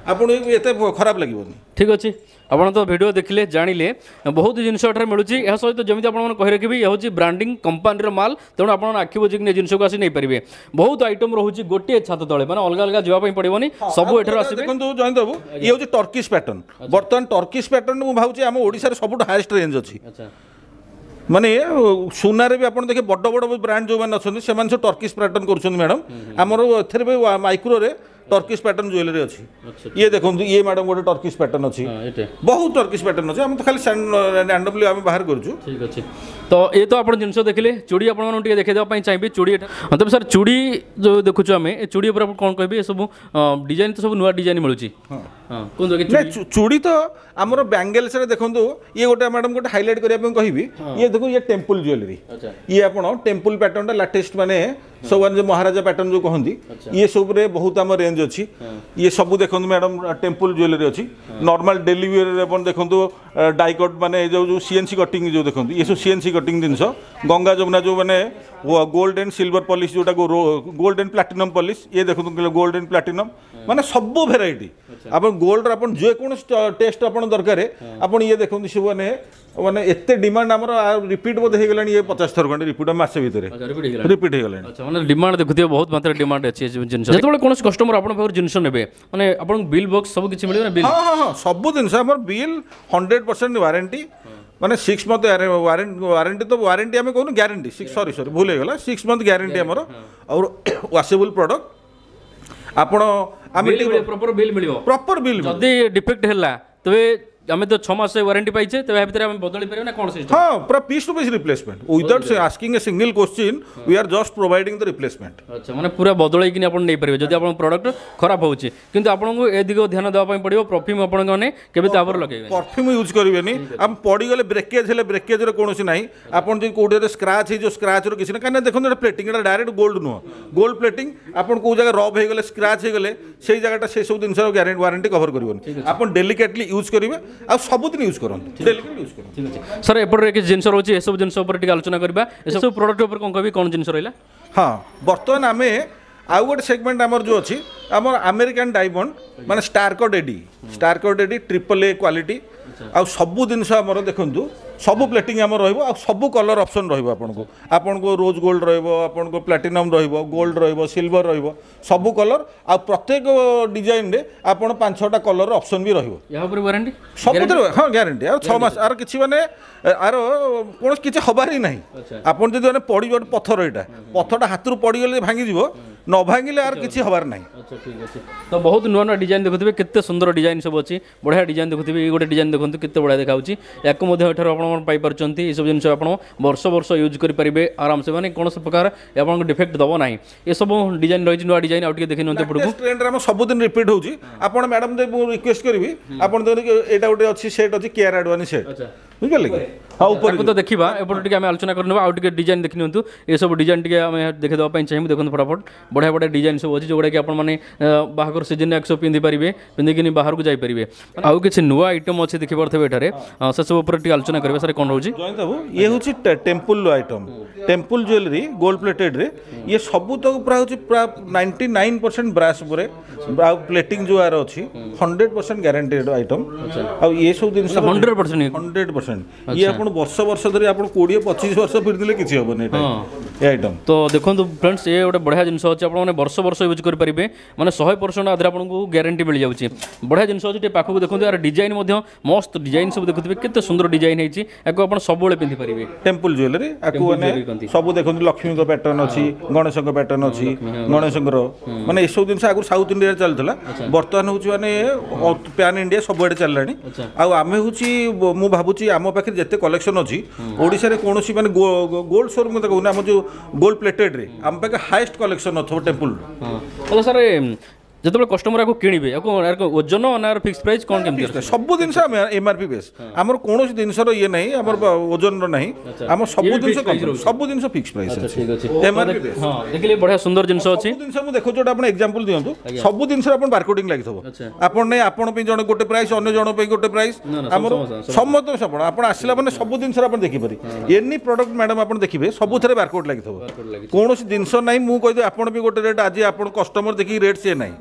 ଆପଣ ଏତେ ଖରାପ ଲାଗିବନି। ଠିକ୍ ଅଛି, ଆପଣ ତ ଭିଡ଼ିଓ ଦେଖିଲେ, ଜାଣିଲେ, ବହୁତ ଜିନିଷ ଏଠାରେ ମିଳୁଛି। ଏହା ସହିତ ଯେମିତି ଆପଣମାନେ କହି ରଖିବି, ଏ ହେଉଛି ବ୍ରାଣ୍ଡିଂ କମ୍ପାନୀର ମାଲ, ତେଣୁ ଆପଣ ଆଖି ବୁଜିକି ଏ ଜିନିଷକୁ ଆସି ନେଇପାରିବେ। ବହୁତ ଆଇଟମ୍ ରହୁଛି ଗୋଟିଏ ଛାତ ତଳେ, ମାନେ ଅଲଗା ଅଲଗା ଯିବା ପାଇଁ ପଡ଼ିବନି, ସବୁ ଏଠାରୁ ଆସିବେ। ଦେଖନ୍ତୁ ଜୟନ୍ତ ବାବୁ, ଇଏ ହେଉଛି ଟର୍କିସ୍ ପ୍ୟାଟର୍ନ। ବର୍ତ୍ତମାନ ଟର୍କିସ୍ ପ୍ୟାଟର୍ନ ମୁଁ ଭାବୁଛି ଆମ ଓଡ଼ିଶାରେ ସବୁଠୁ ହାଏଷ୍ଟ ରେଞ୍ଜ ଅଛି। ମାନେ ସୁନାରେ ବି ଆପଣ ଦେଖିବେ, ବଡ଼ ବଡ଼ ବ୍ରାଣ୍ଡ ଯେଉଁମାନେ ଅଛନ୍ତି, ସେମାନେ ସବୁ ଟର୍କିସ୍ ପ୍ୟାଟର୍ନ କରୁଛନ୍ତି। ମ୍ୟାଡ଼ାମ, ଆମର ଏଥିରେ ବି ମାଇକ୍ରୋରେ ଟର୍କିସ୍ ପ୍ୟାଟର୍ନ ଜୁଏଲାରୀ ଅଛି। ଇଏ ଦେଖନ୍ତୁ, ଇଏ ମ୍ୟାଡ଼ାମ ଗୋଟେ ଟର୍କିସ୍ ପ୍ୟାଟର୍ନ ଅଛି। ଏଇଟା ବହୁତ ଟର୍କିସ୍ ପ୍ୟାଟର୍ନ ଅଛି। ଆମେ ତ ଖାଲି ରାଣ୍ଡମଲି ଆମେ ବାହାର କରୁଛୁ। ଠିକ୍ ଅଛି, ତ ଏ ତ ଆପଣ ଜିନିଷ ଦେଖିଲେ। ଚୁଡ଼ି ଆପଣମାନଙ୍କୁ ଟିକେ ଦେଖାଇ ଦେବା ପାଇଁ ଚାହିଁବି ଚୁଡ଼ି ଏଟା। ହଁ, ତେବେ ସାର୍, ଚୁଡ଼ି ଯେଉଁ ଦେଖୁଛୁ ଆମେ, ଏ ଚୁଡ଼ି ଉପରେ ଆପଣ କ'ଣ କହିବେ? ଏସବୁ ଡିଜାଇନ୍ ତ ସବୁ ନୂଆ ଡିଜାଇନ୍ ମିଳୁଛି। ହଁ, କୁହନ୍ତୁ ଆଜ୍ଞା, ନାଇଁ, ଚୁଡ଼ି। ଚୁଡ଼ି ତ ଆମର ବ୍ୟାଙ୍ଗେଲ୍ସରେ ଦେଖନ୍ତୁ, ଇଏ ଗୋଟେ ମ୍ୟାଡ଼ାମ ଗୋଟେ ହାଇଲାଇଟ୍ କରିବା ପାଇଁ କହିବି। ଇଏ ଦେଖନ୍ତୁ, ଇଏ ଟେମ୍ପଲ୍ ଜୁଏଲାରୀ। ଇଏ ଆପଣ ଟେମ୍ପଲ୍ ପ୍ୟାଟର୍ନଟା ଲାଟେଷ୍ଟ, ମାନେ ସବୁ ମାନେ ଯେଉଁ ମହାରାଜା ପ୍ୟାଟର୍ନ ଯେଉଁ କହନ୍ତି, ଇଏ ସବୁରେ ବହୁତ ଆମ ରେଞ୍ଜ ଅଛି। ଇଏ ସବୁ ଦେଖନ୍ତୁ ମ୍ୟାଡ଼ାମ, ଟେମ୍ପଲ୍ ଜୁଏଲାରୀ ଅଛି। ନର୍ମାଲ ଡେଲି ୱେରରେ ଆପଣ ଦେଖନ୍ତୁ, ଡାଇକଟ୍, ମାନେ ଏ ଯେଉଁ ଯେଉଁ ସିଏନ୍ସି କଟିଂ ଯେଉଁ ଦେଖନ୍ତୁ, ଇଏ ସବୁ ସିଏନ୍ସି କଟିଂ ଜିନିଷ। ଗଙ୍ଗା ଯମୁନା ଯେଉଁ ମାନେ ଗୋଲ୍ଡ ଆଣ୍ଡ ସିଲଭର ପଲିସ୍, ଯେଉଁଟା ଗୋଲ୍ଡ ଆଣ୍ଡ ପ୍ଲାଟିନମ୍ ପଲିସ୍। ଇଏ ଦେଖନ୍ତୁ, ଗୋଲ୍ଡ ଆଣ୍ଡ ପ୍ଲାଟିନମ୍, ମାନେ ସବୁ ଭେରାଇଟି ଆପଣ ଗୋଲ୍ଡର ଆପଣ ଯେକୌଣସି ଟେଷ୍ଟ ଆପଣ ଦରକାର ଆପଣ। ଇଏ ଦେଖନ୍ତୁ, ସବୁ ମାନେ ମାନେ ଏତେ ଡିମାଣ୍ଡ ଆମର, ରିପିଟ୍ ବୋଧେ ହେଇଗଲାଣି ଇଏ 50 ଥର ଖଣ୍ଡେ ରିପିଟ୍ ମାସେ ଭିତରେ। ଆଚ୍ଛା, ରିପିଟ୍ ହେଇଗଲାଣି। ରିପିଟ୍ ହେଇଗଲାଣି। ଆଚ୍ଛା, ମାନେ ଡିମାଣ୍ଡ ଦେଖୁଥିବେ, ବହୁତ ମାତ୍ରାରେ ଡିମାଣ୍ଡ ଅଛି ଏ ଜିନିଷ। ଯେତେବେଳେ କୌଣସି କଷ୍ଟମର ଆପଣଙ୍କ ପାଖରୁ ଜିନିଷ ନେବେ, ମାନେ ଆପଣଙ୍କୁ ବିଲ୍ ବକ୍ସ ସବୁ କିଛି ମିଳିବ ନା, ବିଲ୍? ହଁ, ସବୁ ଜିନିଷ ଆମର ବିଲ୍, 100% ୱାରେଣ୍ଟି, ମାନେ 6 ମନ୍ଥ ୱାରେଣ୍ଟି ତ ୱାରେଣ୍ଟି ଆମେ କହୁନୁ, ଗ୍ୟାରେଣ୍ଟି। ସିକ୍ସ, ସରି ସରି, ଭୁଲ ହେଇଗଲା, 6 ମନ୍ଥ ଗ୍ୟାରେଣ୍ଟି ଆମର। ଆଉ ୱାସେବୁଲ୍ ପ୍ରଡକ୍ଟ ଆପଣ ଆମେ ବିଲ୍, ପ୍ରପର ବିଲ୍ ମିଳିବ। Proper bill. ଯଦି ଡିଫେକ୍ଟ ହେଲା ତେବେ ଆମେ ତ 6 ମାସ ୱାରେଣ୍ଟି ପାଇଛେ, ତେବେ ଏହା ଭିତରେ ଆମେ ବଦଳି ପାରିବା ନା କ'ଣ ସିଷ୍ଟମ୍? ହଁ, ପୁରା piece to piece replacement. Without asking a single question, we are just providing the replacement. ଆଚ୍ଛା, ମାନେ ପୁରା ବଦଳେଇକିନି ଆପଣ ନେଇପାରିବେ ଯଦି ଆପଣଙ୍କ ପ୍ରଡକ୍ଟ ଖରାପ ହେଉଛି। କିନ୍ତୁ ଆପଣଙ୍କୁ ଏ ଦିଗ ଧ୍ୟାନ ଦେବା ପାଇଁ ପଡ଼ିବ, ପରଫ୍ୟୁମ୍ ଆପଣଙ୍କ ମାନେ କେବେ ତାପରେ ଲଗେଇବେ। ପରଫ୍ୟୁମ୍ ୟୁଜ୍ କରିବେନି। ଆମେ ପଡ଼ିଗଲେ, ବ୍ରେକେଜ୍ ହେଲେ ବ୍ରେକେଜ୍ର କୌଣସି ନାହିଁ। ଆପଣ ଯଦି କେଉଁଠି ସ୍କ୍ରାଚ୍ ହେଇଯିବ, ସ୍କ୍ରାଚ୍ର କିଛି ନାହିଁ। କାହିଁକିନା ଦେଖନ୍ତୁ, ଏଇଟା ପ୍ଲେଟିଂ, ଏଇଟା ଡାଇରେକ୍ଟ ଗୋଲ୍ଡ ନୁହଁ, ଗୋଲ୍ଡ ପ୍ଲେଟିଂ। ଆପଣ କେଉଁ ଜାଗା ରବ୍ ହେଇଗଲେ, ସ୍କ୍ରାଚ୍ ହେଇଗଲେ, ସେଇ ଜାଗାଟା ସେସବୁ ଜିନିଷର ଗ୍ୟାରେଣ୍ଟି ୱାରେଣ୍ଟି କଭର କରିବନି। ଆପଣ ଡେଲିକେଟଲି ୟୁଜ୍ କରିବେ ଆଉ ସବୁଦିନ ୟୁଜ୍ କରନ୍ତୁ, ଡେଲିକେଟଲି ୟୁଜ୍ କରନ୍ତୁ। ଠିକ୍ ଅଛି ସାର୍, ଏପଟରେ କିଛି ଜିନିଷ ରହୁଛି, ଏସବୁ ଜିନିଷ ଉପରେ ଟିକେ ଆଲୋଚନା କରିବା। ଏସବୁ ପ୍ରଡକ୍ଟ ଉପରେ କ'ଣ କହିବି, କ'ଣ ଜିନିଷ ରହିଲା? ହଁ, ବର୍ତ୍ତମାନ ଆମେ ଆଉ ଗୋଟେ ସେଗମେଣ୍ଟ ଆମର ଯେଉଁ ଅଛି, ଆମର ଆମେରିକାନ୍ ଡାଇମଣ୍ଡ, ମାନେ star cut AD, star cut AD, triple A quality. ଆଉ ସବୁ ଜିନିଷ ଆମର ଦେଖନ୍ତୁ, ସବୁ ପ୍ଲେଟିଂ ଆମର ରହିବ ଆଉ ସବୁ କଲର୍ ଅପସନ୍ ରହିବ ଆପଣଙ୍କୁ। ଆପଣଙ୍କୁ ରୋଜ୍ ଗୋଲ୍ଡ ରହିବ, ଆପଣଙ୍କୁ ପ୍ଲାଟିନମ୍ ରହିବ, ଗୋଲ୍ଡ ରହିବ, ସିଲଭର ରହିବ, ସବୁ କଲର୍। ଆଉ ପ୍ରତ୍ୟେକ ଡିଜାଇନରେ ଆପଣ ପାଞ୍ଚ ଛଅଟା କଲର୍ ଅପସନ୍ ବି ରହିବ। ଏହା ଉପରେ ୱାରେଣ୍ଟି? ସବୁଥିରେ ହଁ, ଗ୍ୟାରେଣ୍ଟି। ଆଉ 6 ମାସ ଆର କିଛି ମାନେ ଆର କୌଣସି କିଛି ହବାର ହିଁ ନାହିଁ। ଆପଣ ଯଦି ମାନେ ପଡ଼ିବ, ଗୋଟେ ପଥର, ଏଇଟା ପଥରଟା ହାତରୁ ପଡ଼ିଗଲେ ଭାଙ୍ଗିଯିବ, ନ ଭାଙ୍ଗିଲେ ଆର କିଛି ହବାର ନାହିଁ। ଆଚ୍ଛା, ଠିକ୍ ଅଛି। ତ ବହୁତ ନୂଆ ନୂଆ ଡିଜାଇନ୍ ଦେଖୁଥିବେ, କେତେ ସୁନ୍ଦର ଡିଜାଇନ୍ ସବୁ ଅଛି, ବଢ଼ିଆ ଡିଜାଇନ୍ ଦେଖୁଥିବେ। ଏଇ ଗୋଟେ ଡିଜାଇନ୍ ଦେଖନ୍ତୁ, କେତେ ବଢ଼ିଆ ଦେଖାଯାଉଛି। ୟାକୁ ମଧ୍ୟ ଏଠାରୁ ଆପଣ ପାଇପାରୁଛନ୍ତି। ଏସବୁ ଜିନିଷ ଆପଣ ବର୍ଷ ବର୍ଷ ୟୁଜ୍ କରିପାରିବେ ଆରାମସେ, ମାନେ କୌଣସି ପ୍ରକାର ଆପଣଙ୍କୁ ଡିଫେକ୍ଟ ଦେବ ନାହିଁ। ଏସବୁ ଡିଜାଇନ୍ ରହିଛି, ନୂଆ ଡିଜାଇନ୍। ଆଉ ଟିକେ ଦେଖି ନିଅନ୍ତୁ ଏପଟକୁ। ଟ୍ରେଣ୍ଡରେ ଆମ ସବୁଦିନ ରିପିଟ୍ ହେଉଛି। ଆପଣ ମ୍ୟାଡ଼ାମ୍, ମୁଁ ରିକ୍ୱେଷ୍ଟ କରିବି, ଆପଣ ଦେଖନ୍ତୁ, ଏଇଟା ଗୋଟେ ଅଛି ସେଟ୍ ଅଛି, କିଆରା ଆଡଭାନୀ ସେଟ୍, ବୁଝିପାରିଲେ କି? ହଁ, ଉପରେ ତାକୁ ତ ଦେଖିବା, ଏପଟେ ଟିକେ ଆମେ ଆଲୋଚନା କରିନେବା। ଆଉ ଟିକେ ଡିଜାଇନ୍ ଦେଖି ନିଅନ୍ତୁ। ଏସବୁ ଡିଜାଇନ୍ ଟିକେ ଆମେ ଦେଖିଦେବା ପାଇଁ ଚାହିଁବୁ। ଦେଖନ୍ତୁ ଫଟାଫଟ, ବଢ଼ିଆ ବଢ଼ିଆ ଡିଜାଇନ୍ ସବୁ ଅଛି, ଯେଉଁଗୁଡ଼ାକି ଆପଣମାନେ ବାହାଘର ସିଜନରେ ସବୁ ପିନ୍ଧିପାରିବେ, ପିନ୍ଧିକିନି ବାହାରକୁ ଯାଇପାରିବେ। ଆଉ କିଛି ନୂଆ ଆଇଟମ୍ ଅଛି, ଦେଖିପାରୁଥିବେ ଏଠାରେ, ସେସବୁ ଉପରେ ଟିକେ ଆଲୋଚନା କରିବା। ସାର୍, କ'ଣ ରହୁଛି? ଜୟନ୍ତ ବାବୁ, ଇଏ ହେଉଛି temple item, temple jewellery, gold ପ୍ଲେଟେଡ୍ରେ। ଇଏ ସବୁ ତ ପୁରା ହେଉଛି ପୁରା 99% ବ୍ରାସ୍ ଉପରେ ଆଉ ପ୍ଲେଟିଂ ଯେଉଁ ଆର ଅଛି, 100% ଗ୍ୟାରେଣ୍ଟେଡ୍ ଆଇଟମ୍। ଆଉ ଇଏ ସବୁ ଜିନିଷ 100%? 100%। ଇଏ ଆପଣ ବର୍ଷ ବର୍ଷ ଧରି, ଆପଣ 20-25 ବର୍ଷ ପିନ୍ଧିଲେ କିଛି ହେବନି ଏଇଟା, ଏ ଆଇଟମ୍। ତ ଦେଖନ୍ତୁ ଫ୍ରେଣ୍ଡସ୍, ଏ ଗୋଟେ ବଢ଼ିଆ ଜିନିଷ ଅଛି, ଆପଣମାନେ ବର୍ଷ ବର୍ଷ ୟୁଜ୍ କରିପାରିବେ, ମାନେ 100% ଆଧିରେ ଆପଣଙ୍କୁ ଗ୍ୟାରେଣ୍ଟି ମିଳିଯାଉଛି। ବଢ଼ିଆ ଜିନିଷ ଅଛି। ଟିକେ ପାଖକୁ ଦେଖନ୍ତୁ, ଏହାର ଡିଜାଇନ୍ ମଧ୍ୟ ମସ୍ତ ଡିଜାଇନ୍ ସବୁ ଦେଖୁଥିବେ, କେତେ ସୁନ୍ଦର ଡିଜାଇନ୍ ହେଇଛି। ୟାକୁ ଆପଣ ସବୁବେଳେ ପିନ୍ଧିପାରିବେ। ଟେମ୍ପଲ ଜୁଏଲାରୀ ଆକୁ ମାନେ jewelry କହନ୍ତି। ସବୁ ଦେଖନ୍ତୁ, ଲକ୍ଷ୍ମୀଙ୍କ ପ୍ୟାଟର୍ନ ଅଛି, ଗଣେଶଙ୍କ ପ୍ୟାଟର୍ନ ଅଛି। ଗଣେଶଙ୍କର ମାନେ ଏସବୁ ଜିନିଷ ଆଗରୁ ସାଉଥ ଇଣ୍ଡିଆରେ ଚାଲୁଥିଲା, ବର୍ତ୍ତମାନ ହେଉଛି ମାନେ ପ୍ୟାନ୍ ଇଣ୍ଡିଆ ସବୁଆଡ଼େ ଚାଲିଲାଣି। ଆଉ ଆମେ ହେଉଛି, ମୁଁ ଭାବୁଛି ଆମ ପାଖରେ ଯେତେ କଲେକ୍ସନ୍ ଅଛି, ଓଡ଼ିଶାରେ କୌଣସି ମାନେ ଗୋଲ୍ଡ ସୋରୁମ୍ କଥା କହୁନି, ଆମ ଯେଉଁ ଗୋଲ୍ଡ ପ୍ଲେଟେଡ୍ରେ ଆମ ପାଖରେ ହାଏଷ୍ଟ କଲେକ୍ସନ୍ ନଥିବ ଟେମ୍ପଲର। ହଁ, ତାହେଲେ ସାର୍, ଯେତେବେଳେ କଷ୍ଟମର ଆକୁ କିଣିବେ, ଆକୁ ଏହାର ଓଜନ ନା ଫିକ୍ସ ପ୍ରାଇସ୍ କ'ଣ କେମିତି ଅଛି? ସବୁ ଜିନିଷ ଆମେ ଏମ୍ଆର୍ପି ବେସ୍। ଆମର କୌଣସି ଜିନିଷର ଇଏ ନାହିଁ, ଆମର ଓଜନର ନାହିଁ। ଆମ ସବୁ ଇଏ ବି ଜିନିଷ fixed price ରହୁଛି? ସବୁ ଜିନିଷ ଫିକ୍ସ ପ୍ରାଇସ୍ ଅଛି, ଠିକ୍ ଅଛି। ଏମ୍ଆର୍ପି ବେସ୍। ହଁ, ଦେଖିଲେ ବଢ଼ିଆ ସୁନ୍ଦର ଜିନିଷ ଅଛି। ସବୁ ଜିନିଷ ମୁଁ ଦେଖୁଛି, ଗୋଟେ ଆପଣ ଏକ୍ଜାମ୍ପଲ୍ ଦିଅନ୍ତୁ। ସବୁ ଜିନିଷରେ ଆପଣ ବାରକୋଡିଂ ଲାଗିଥିବ। ଆପଣ ନାଇଁ, ଆପଣ ପାଇଁ ଜଣେ ଗୋଟେ ପ୍ରାଇସ୍, ଅନ୍ୟ ଜଣ ପାଇଁ ଗୋଟେ ପ୍ରାଇସ୍। ନା, ନା, ଆମର ସମସ୍ତ ଆପଣ ଆସିଲା ମାନେ ସବୁ ଜିନିଷରେ ଆପଣ ଦେଖିପାରିବେ। ଏନି ପ୍ରଡକ୍ଟ ମ୍ୟାଡ଼ାମ୍ ଆପଣ ଦେଖିବେ, ସବୁଥିରେ ବାରକୋଡ୍ ଲାଗିଥିବ। କୌଣସି ଜିନିଷ ନାହିଁ ମୁଁ କହିଦେବି ଆପଣ ବି ଗୋଟେ ରେଟ୍, ଆଜି ଆପଣ କଷ୍ଟମର ଦେଖିକି ରେଟ୍ ସିଏ ନାହିଁ।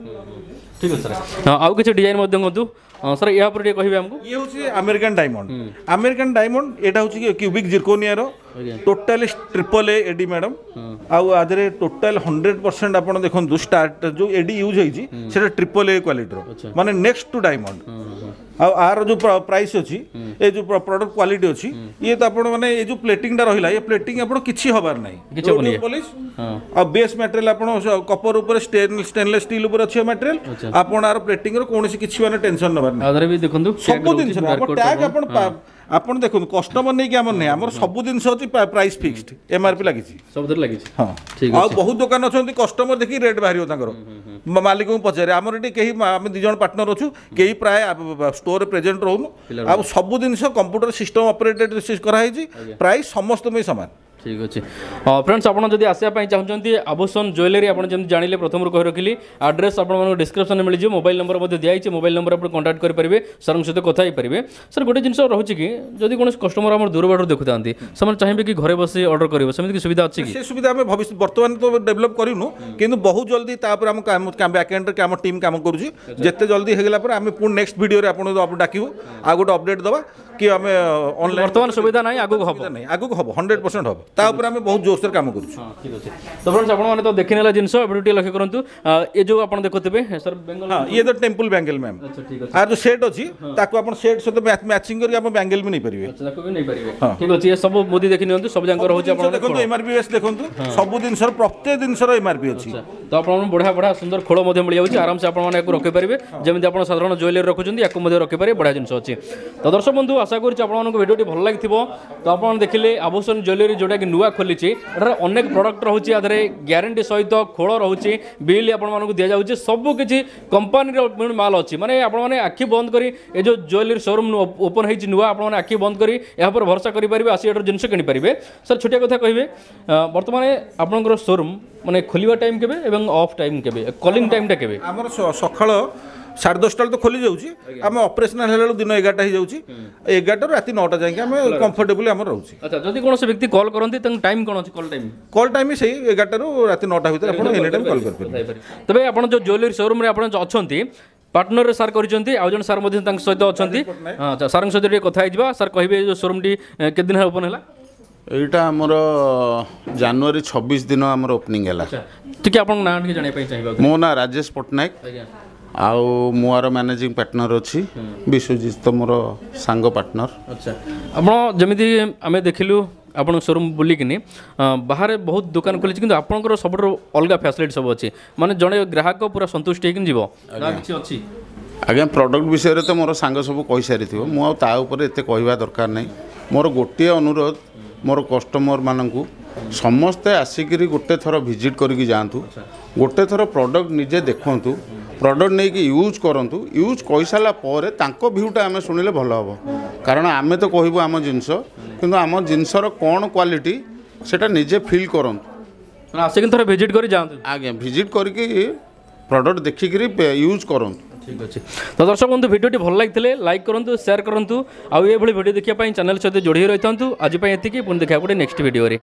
ଠିକ୍ ଅଛି ସାର୍। ହଁ, ଆଉ କିଛି ଡିଜାଇନ୍ ମଧ୍ୟ କୁହନ୍ତୁ। ହଁ ସାର୍, ଏହା ଉପରେ ଟିକେ କହିବେ ଆମକୁ। ଇଏ ହେଉଛି ଆମେରିକାନ୍ ଡାଇମଣ୍ଡ। ଆମେରିକାନ୍ ଡାଇମଣ୍ଡ ଏଇଟା ହେଉଛି cubic ଜିର୍କୋନିଆର, totally triple A AD madam. ଆଉ ଆଦେହରେ ଟୋଟାଲ 100% ଆପଣ ଦେଖନ୍ତୁ, ଷ୍ଟାର୍ଟ ଯେଉଁ ଏଡି ୟୁଜ୍ ହେଇଛି, ସେଟା ଟ୍ରିପଲ୍ ଏ କ୍ୱାଲିଟିର, ମାନେ ନେକ୍ସଟ ଟୁ ଡାଇମଣ୍ଡ। ଆଉ ଆର ଯେଉଁ ପ୍ରାଇସ୍ ଅଛି, ଏ ଯେଉଁ ପ୍ରଡକ୍ଟ କ୍ୱାଲିଟି ଅଛି, ଇଏ ତ ଆପଣ ମାନେ ଏ ଯେଉଁ ପ୍ଲେଟିଂଟା ରହିଲା, ଏ ପ୍ଲେଟିଂ ଆପଣ କିଛି ହବାର ନାହିଁ। କିଛି ହବନି। ପଲିସ୍ ଆଉ ବେସ୍ ମ୍ୟାଟେରିଆଲ ଆପଣ କପର ଉପରେ, ଷ୍ଟେନଲେସ୍ ଷ୍ଟିଲ୍ ଉପରେ ଅଛି ମ୍ୟାଟେରିଆଲ। ଆପଣ ଆର ପ୍ଲେଟିଂର କୌଣସି କିଛି ମାନେ ଟେନସନ୍ ନେବାର ନାହିଁ। ଆଧାରେ ବି ଦେଖନ୍ତୁ। ସବୁ ଜିନିଷ ଟ୍ୟାଗ୍ ଆପଣ ଦେଖନ୍ତୁ, କଷ୍ଟମର ନେଇକି ଆମର ନାହିଁ, ଆମର ସବୁ ଜିନିଷ ଅଛି ପ୍ରାଇସ୍ ଫିକ୍ସଡ, ଏମ୍ଆରପି ଲାଗିଛି। ସବୁଥିରେ ଲାଗିଛି। ହଁ। ଆଉ ବହୁତ ଦୋକାନ ଅଛନ୍ତି, କଷ୍ଟମର ଦେଖିକି ରେଟ୍ ବାହାରିବ ତାଙ୍କର, ମାଲିକଙ୍କୁ ପଚାରେ। ଆମର ଏଠି କେହି, ଆମେ ଦୁଇ ଜଣ ପାର୍ଟନର ଅଛୁ, କେହି ପ୍ରାୟ ଷ୍ଟୋରରେ ପ୍ରେଜେଣ୍ଟ ରହୁନୁ। ଆଉ ସବୁ ଜିନିଷ କମ୍ପ୍ୟୁଟର ସିଷ୍ଟମ ଅପରେଟେଡ୍ କରାହେଇଛି, ପ୍ରାଇସ୍ ସମସ୍ତଙ୍କ ପାଇଁ ସମାନ। ଠିକ୍ ଅଛି ଫ୍ରେଣ୍ଡସ୍, ଆପଣ ଯଦି ଆସିବା ପାଇଁ ଚାହୁଁଛନ୍ତି ଆଭୂଷଣ ଜୁଏଲାରୀ, ଆପଣ ଯେମିତି ଜାଣିଲେ, ପ୍ରଥମରୁ କହି ରଖିଲି, ଆଡ୍ରେସ୍ ଆପଣମାନଙ୍କୁ ଡିସ୍କ୍ରିପ୍ସନରେ ମିଳିଯିବ। ମୋବାଇଲ ନମ୍ବର ମଧ୍ୟ ଦିଆହେଇଛି, ମୋବାଇଲ ନମ୍ବର ଆପଣ କଣ୍ଟାକ୍ଟ କରିପାରିବେ, ସାର୍ଙ୍କ ସହିତ କଥା ହେଇପାରିବେ। ସାର୍, ଗୋଟେ ଜିନିଷ ରହୁଛି କି ଯଦି କୌଣସି କଷ୍ଟମର ଆମର ଦୂର ବାଟରୁ ଦେଖୁଥାନ୍ତି, ସେମାନେ ଚାହିଁବେ କି ଘରେ ବସି ଅର୍ଡ଼ର କରିବ, ସେମିତି କି ସୁବିଧା ଅଛି କି? ସେ ସୁବିଧା ଆମେ ଭବିଷ୍ୟତ, ବର୍ତ୍ତମାନ ତ ଡେଭଲପ୍ କରିନୁ, କିନ୍ତୁ ବହୁତ ଜଲ୍ଦି ତାପରେ ଆମ କାମ ବ୍ୟାକ୍ ଏଣ୍ଡରେ ଆମ ଟିମ୍ କାମ କରୁଛି। ଯେତେ ଜଲ୍ଦି ହେଇଗଲା ପରେ ଆମେ ପୁଣି ନେକ୍ସଟ ଭିଡ଼ିଓରେ ଆପଣଙ୍କୁ ଡାକିବୁ, ଆଉ ଗୋଟେ ଅପଡେଟ୍ ଦେବା। କି ଆମେ ଅନଲାଇନ୍। ବର୍ତ୍ତମାନ ସୁବିଧା ନାହିଁ, ଆଗକୁ ହବ? ନାହିଁ, ଆଗକୁ ହବ, 100% ହବ। ତା ଉପରେ ଆମେ ବହୁତ ଜୋରସୋର କାମ କରୁଛୁ। ହଁ, ଠିକ୍ ଅଛି। ତ ଫ୍ରେଣ୍ଡସ୍, ଆପଣମାନେ ତ ଦେଖିନେଲା ଜିନିଷ, ଏବେ ଟିକେ ଲକ୍ଷ୍ୟ କରନ୍ତୁ, ଏ ଯେଉଁ ଆପଣ ଦେଖୁଥିବେ ସାର୍ ବେଙ୍ଗଲ। ହଁ, ଇଏ ତ ଟେମ୍ପଲ ବ୍ୟାଙ୍ଗେଲ ମ୍ୟାମ୍। ଆଚ୍ଛା, ଠିକ୍ ଅଛି। ଆଉ ଯୋଉ ସେଟ୍ ଅଛି, ତାକୁ ଆପଣ ସେଟ୍ ସହିତ ମ୍ୟାଚିଂ କରିକି ଆପଣ ବ୍ୟାଙ୍ଗେଲ ବି ନେଇପାରିବେ। ଆଚ୍ଛା, ତାକୁ ବି ନେଇପାରିବେ। ଠିକ୍ ଅଛି। ଏ ସବୁ ମୁଦି ଦେଖି ନିଅନ୍ତୁ, ସବୁ ଯାକ ରହୁଛି ଆପଣ ଦେଖନ୍ତୁ, ଏମଆରପି ବେସ୍ ଦେଖନ୍ତୁ, ସବୁ ଜିନିଷର, ପ୍ରତ୍ୟେକ ଜିନିଷର ଏମଆରପି ଅଛି। ତ ଆପଣଙ୍କୁ ବଢ଼ିଆ ବଢ଼ିଆ ସୁନ୍ଦର ଖୋଳ ମଧ୍ୟ ମିଳିଯାଉଛି। ଆରାମସେ ଆପଣମାନେ ୟାକୁ ରଖିପାରିବେ, ଯେମିତି ଆପଣ ସାଧାରଣ ଜୁଏଲାରୀ ରଖୁଛନ୍ତି, ୟାକୁ ମଧ୍ୟ ରଖିପାରିବେ। ବଢ଼ିଆ ଜିନିଷ ଅଛି। ତ ଦର୍ଶକ ବନ୍ଧୁ, ଆଶା କରୁଛି ଆପଣମାନଙ୍କୁ ଭିଡ଼ିଓଟି ଭଲ ଲାଗିଥିବ। ତ ଆପଣ ଦେଖିଲେ ଆଭୂଷଣ ଜୁଏଲାରୀ, ଯେଉଁଟାକି ନୂଆ ଖୋଲିଛି। ଏଠାରେ ଅନେକ ପ୍ରଡ଼କ୍ଟ ରହୁଛି, ଆ ଦେହରେ ଗ୍ୟାରେଣ୍ଟି ସହିତ ଖୋଳ ରହୁଛି, ବିଲ୍ ଆପଣମାନଙ୍କୁ ଦିଆଯାଉଛି, ସବୁ କିଛି କମ୍ପାନୀର ମାଲ ଅଛି। ମାନେ ଆପଣମାନେ ଆଖି ବନ୍ଦ କରି, ଏ ଯେଉଁ ଜୁଏଲାରୀ ସୋରୁମ୍ ଓପନ୍ ହେଇଛି ନୂଆ, ଆପଣମାନେ ଆଖି ବନ୍ଦ କରି ଏହା ଉପରେ ଭରସା କରିପାରିବେ, ଆସି ଏଠାରୁ ଜିନିଷ କିଣିପାରିବେ। ସାର୍, ଛୋଟିଆ କଥା କହିବେ, ବର୍ତ୍ତମାନ ଆପଣଙ୍କର ସୋରୁମ୍ ମାନେ ଖୋଲିବା ଟାଇମ୍ କେବେ ଏବଂ ଅଫ୍ ଟାଇମ୍ କେବେ, କଲିଂ ଟାଇମ୍ଟା କେବେ? ଆମର ସକାଳ 10:30 ବେଳେ ତ ଖୋଲି ଯାଉଛି। ଆମେ ଅପରେସନାଲ ହେଲା ବେଳକୁ ଦିନ 11ଟା ହେଇଯାଉଛି। 11ଟାରୁ ରାତି 9ଟା ଯାଇକି ଆମେ କମ୍ଫର୍ଟେବଲି ଆମର ରହୁଛି। ଆଚ୍ଛା, ଯଦି କୌଣସି ବ୍ୟକ୍ତି କଲ୍ କରନ୍ତି, ତାଙ୍କ ଟାଇମ୍ କ'ଣ ଅଛି, କଲ୍ ଟାଇମ୍? କଲ୍ ଟାଇମ୍ ସେଇ 11ଟାରୁ ରାତି 9ଟା ଭିତରେ ଆପଣ ଏନି ଟାଇମ୍ କଲ୍ କରିପାରିବେ। ତେବେ ଆପଣ ଯେଉଁ ଜୁଏଲାରୀ ସୋରୁମ୍ରେ ଆପଣ ଅଛନ୍ତି, ପାର୍ଟନରରେ ସାର୍ କରିଛନ୍ତି, ଆଉ ଜଣେ ସାର୍ ମଧ୍ୟ ତାଙ୍କ ସହିତ ଅଛନ୍ତି। ଆଚ୍ଛା, ସାର୍ଙ୍କ ସହିତ ଟିକେ କଥା ହେଇଯିବା। ସାର୍, କହିବେ ଏ ଯେଉଁ ସୋରୁମ୍ଟି କେତେ ଦିନ ହେଲା ଓପନ୍ ହେଲା? ଏଇଟା ଆମର ଜାନୁଆରୀ 26 ଦିନ ଆମର ଓପନିଂ ହେଲା। ଟିକେ ଆପଣଙ୍କ ନାଁ ଟିକେ ଜାଣିବା ପାଇଁ ଚାହିଁବା। ମୋ ନାଁ ରାଜେଶ ପଟ୍ଟନାୟକ। ଆଉ ମୁଁ ଆର ମ୍ୟାନେଜିଂ ପାର୍ଟନର ଅଛି। ବିଶ୍ୱଜିତ ତ ମୋର ସାଙ୍ଗ ପାର୍ଟନର। ଆଚ୍ଛା, ଆପଣ ଯେମିତି ଆମେ ଦେଖିଲୁ ଆପଣଙ୍କ ସୋରୁମ୍ ବୁଲିକିନି, ବାହାରେ ବହୁତ ଦୋକାନ ଖୋଲିଛି, କିନ୍ତୁ ଆପଣଙ୍କର ସବୁଠାରୁ ଅଲଗା ଫ୍ୟାସିଲିଟି ସବୁ ଅଛି, ମାନେ ଜଣେ ଗ୍ରାହକ ପୁରା ସନ୍ତୁଷ୍ଟ ହେଇକି ଯିବ ନା କିଛି ଅଛି? ଆଜ୍ଞା, ପ୍ରଡ଼କ୍ଟ ବିଷୟରେ ତ ମୋର ସାଙ୍ଗ ସବୁ କହିସାରିଥିବ, ମୁଁ ଆଉ ତା ଉପରେ ଏତେ କହିବା ଦରକାର ନାହିଁ। ମୋର ଗୋଟିଏ ଅନୁରୋଧ ମୋର କଷ୍ଟମରମାନଙ୍କୁ, ସମସ୍ତେ ଆସିକିରି ଗୋଟେ ଥର ଭିଜିଟ୍ କରିକି ଯାଆନ୍ତୁ, ଗୋଟେ ଥର ପ୍ରଡ଼କ୍ଟ ନିଜେ ଦେଖନ୍ତୁ, ପ୍ରଡ଼କ୍ଟ ନେଇକି ୟୁଜ୍ କରନ୍ତୁ। ୟୁଜ୍ କରିସାରିଲା ପରେ ତାଙ୍କ ଭ୍ୟୁଟା ଆମେ ଶୁଣିଲେ ଭଲ ହେବ, କାରଣ ଆମେ ତ କହିବୁ ଆମ ଜିନିଷ, କିନ୍ତୁ ଆମ ଜିନିଷର କ'ଣ କ୍ୱାଲିଟି ସେଇଟା ନିଜେ ଫିଲ୍ କରନ୍ତୁ। ମାନେ ଆସିକି ଥରେ ଭିଜିଟ୍ କରି ଯାଆନ୍ତୁ। ଆଜ୍ଞା, ଭିଜିଟ୍ କରିକି ପ୍ରଡ଼କ୍ଟ ଦେଖିକିରି ୟୁଜ୍ କରନ୍ତୁ। ଠିକ୍ ଅଛି। ତ ଦର୍ଶକ ବନ୍ଧୁ, ଭିଡ଼ିଓଟି ଭଲ ଲାଗିଥିଲେ ଲାଇକ୍ କରନ୍ତୁ, ସେୟାର କରନ୍ତୁ, ଆଉ ଏଭଳି ଭିଡ଼ିଓ ଦେଖିବା ପାଇଁ ଚ୍ୟାନେଲ୍ ସହିତ ଯୋଡ଼ି ହୋଇ ରହିଥାନ୍ତୁ। ଆଜି ପାଇଁ ଏତିକି, ପୁଣି ଦେଖିବାକୁ ଗୋଟେ ନେକ୍ସଟ ଭିଡ଼ିଓରେ।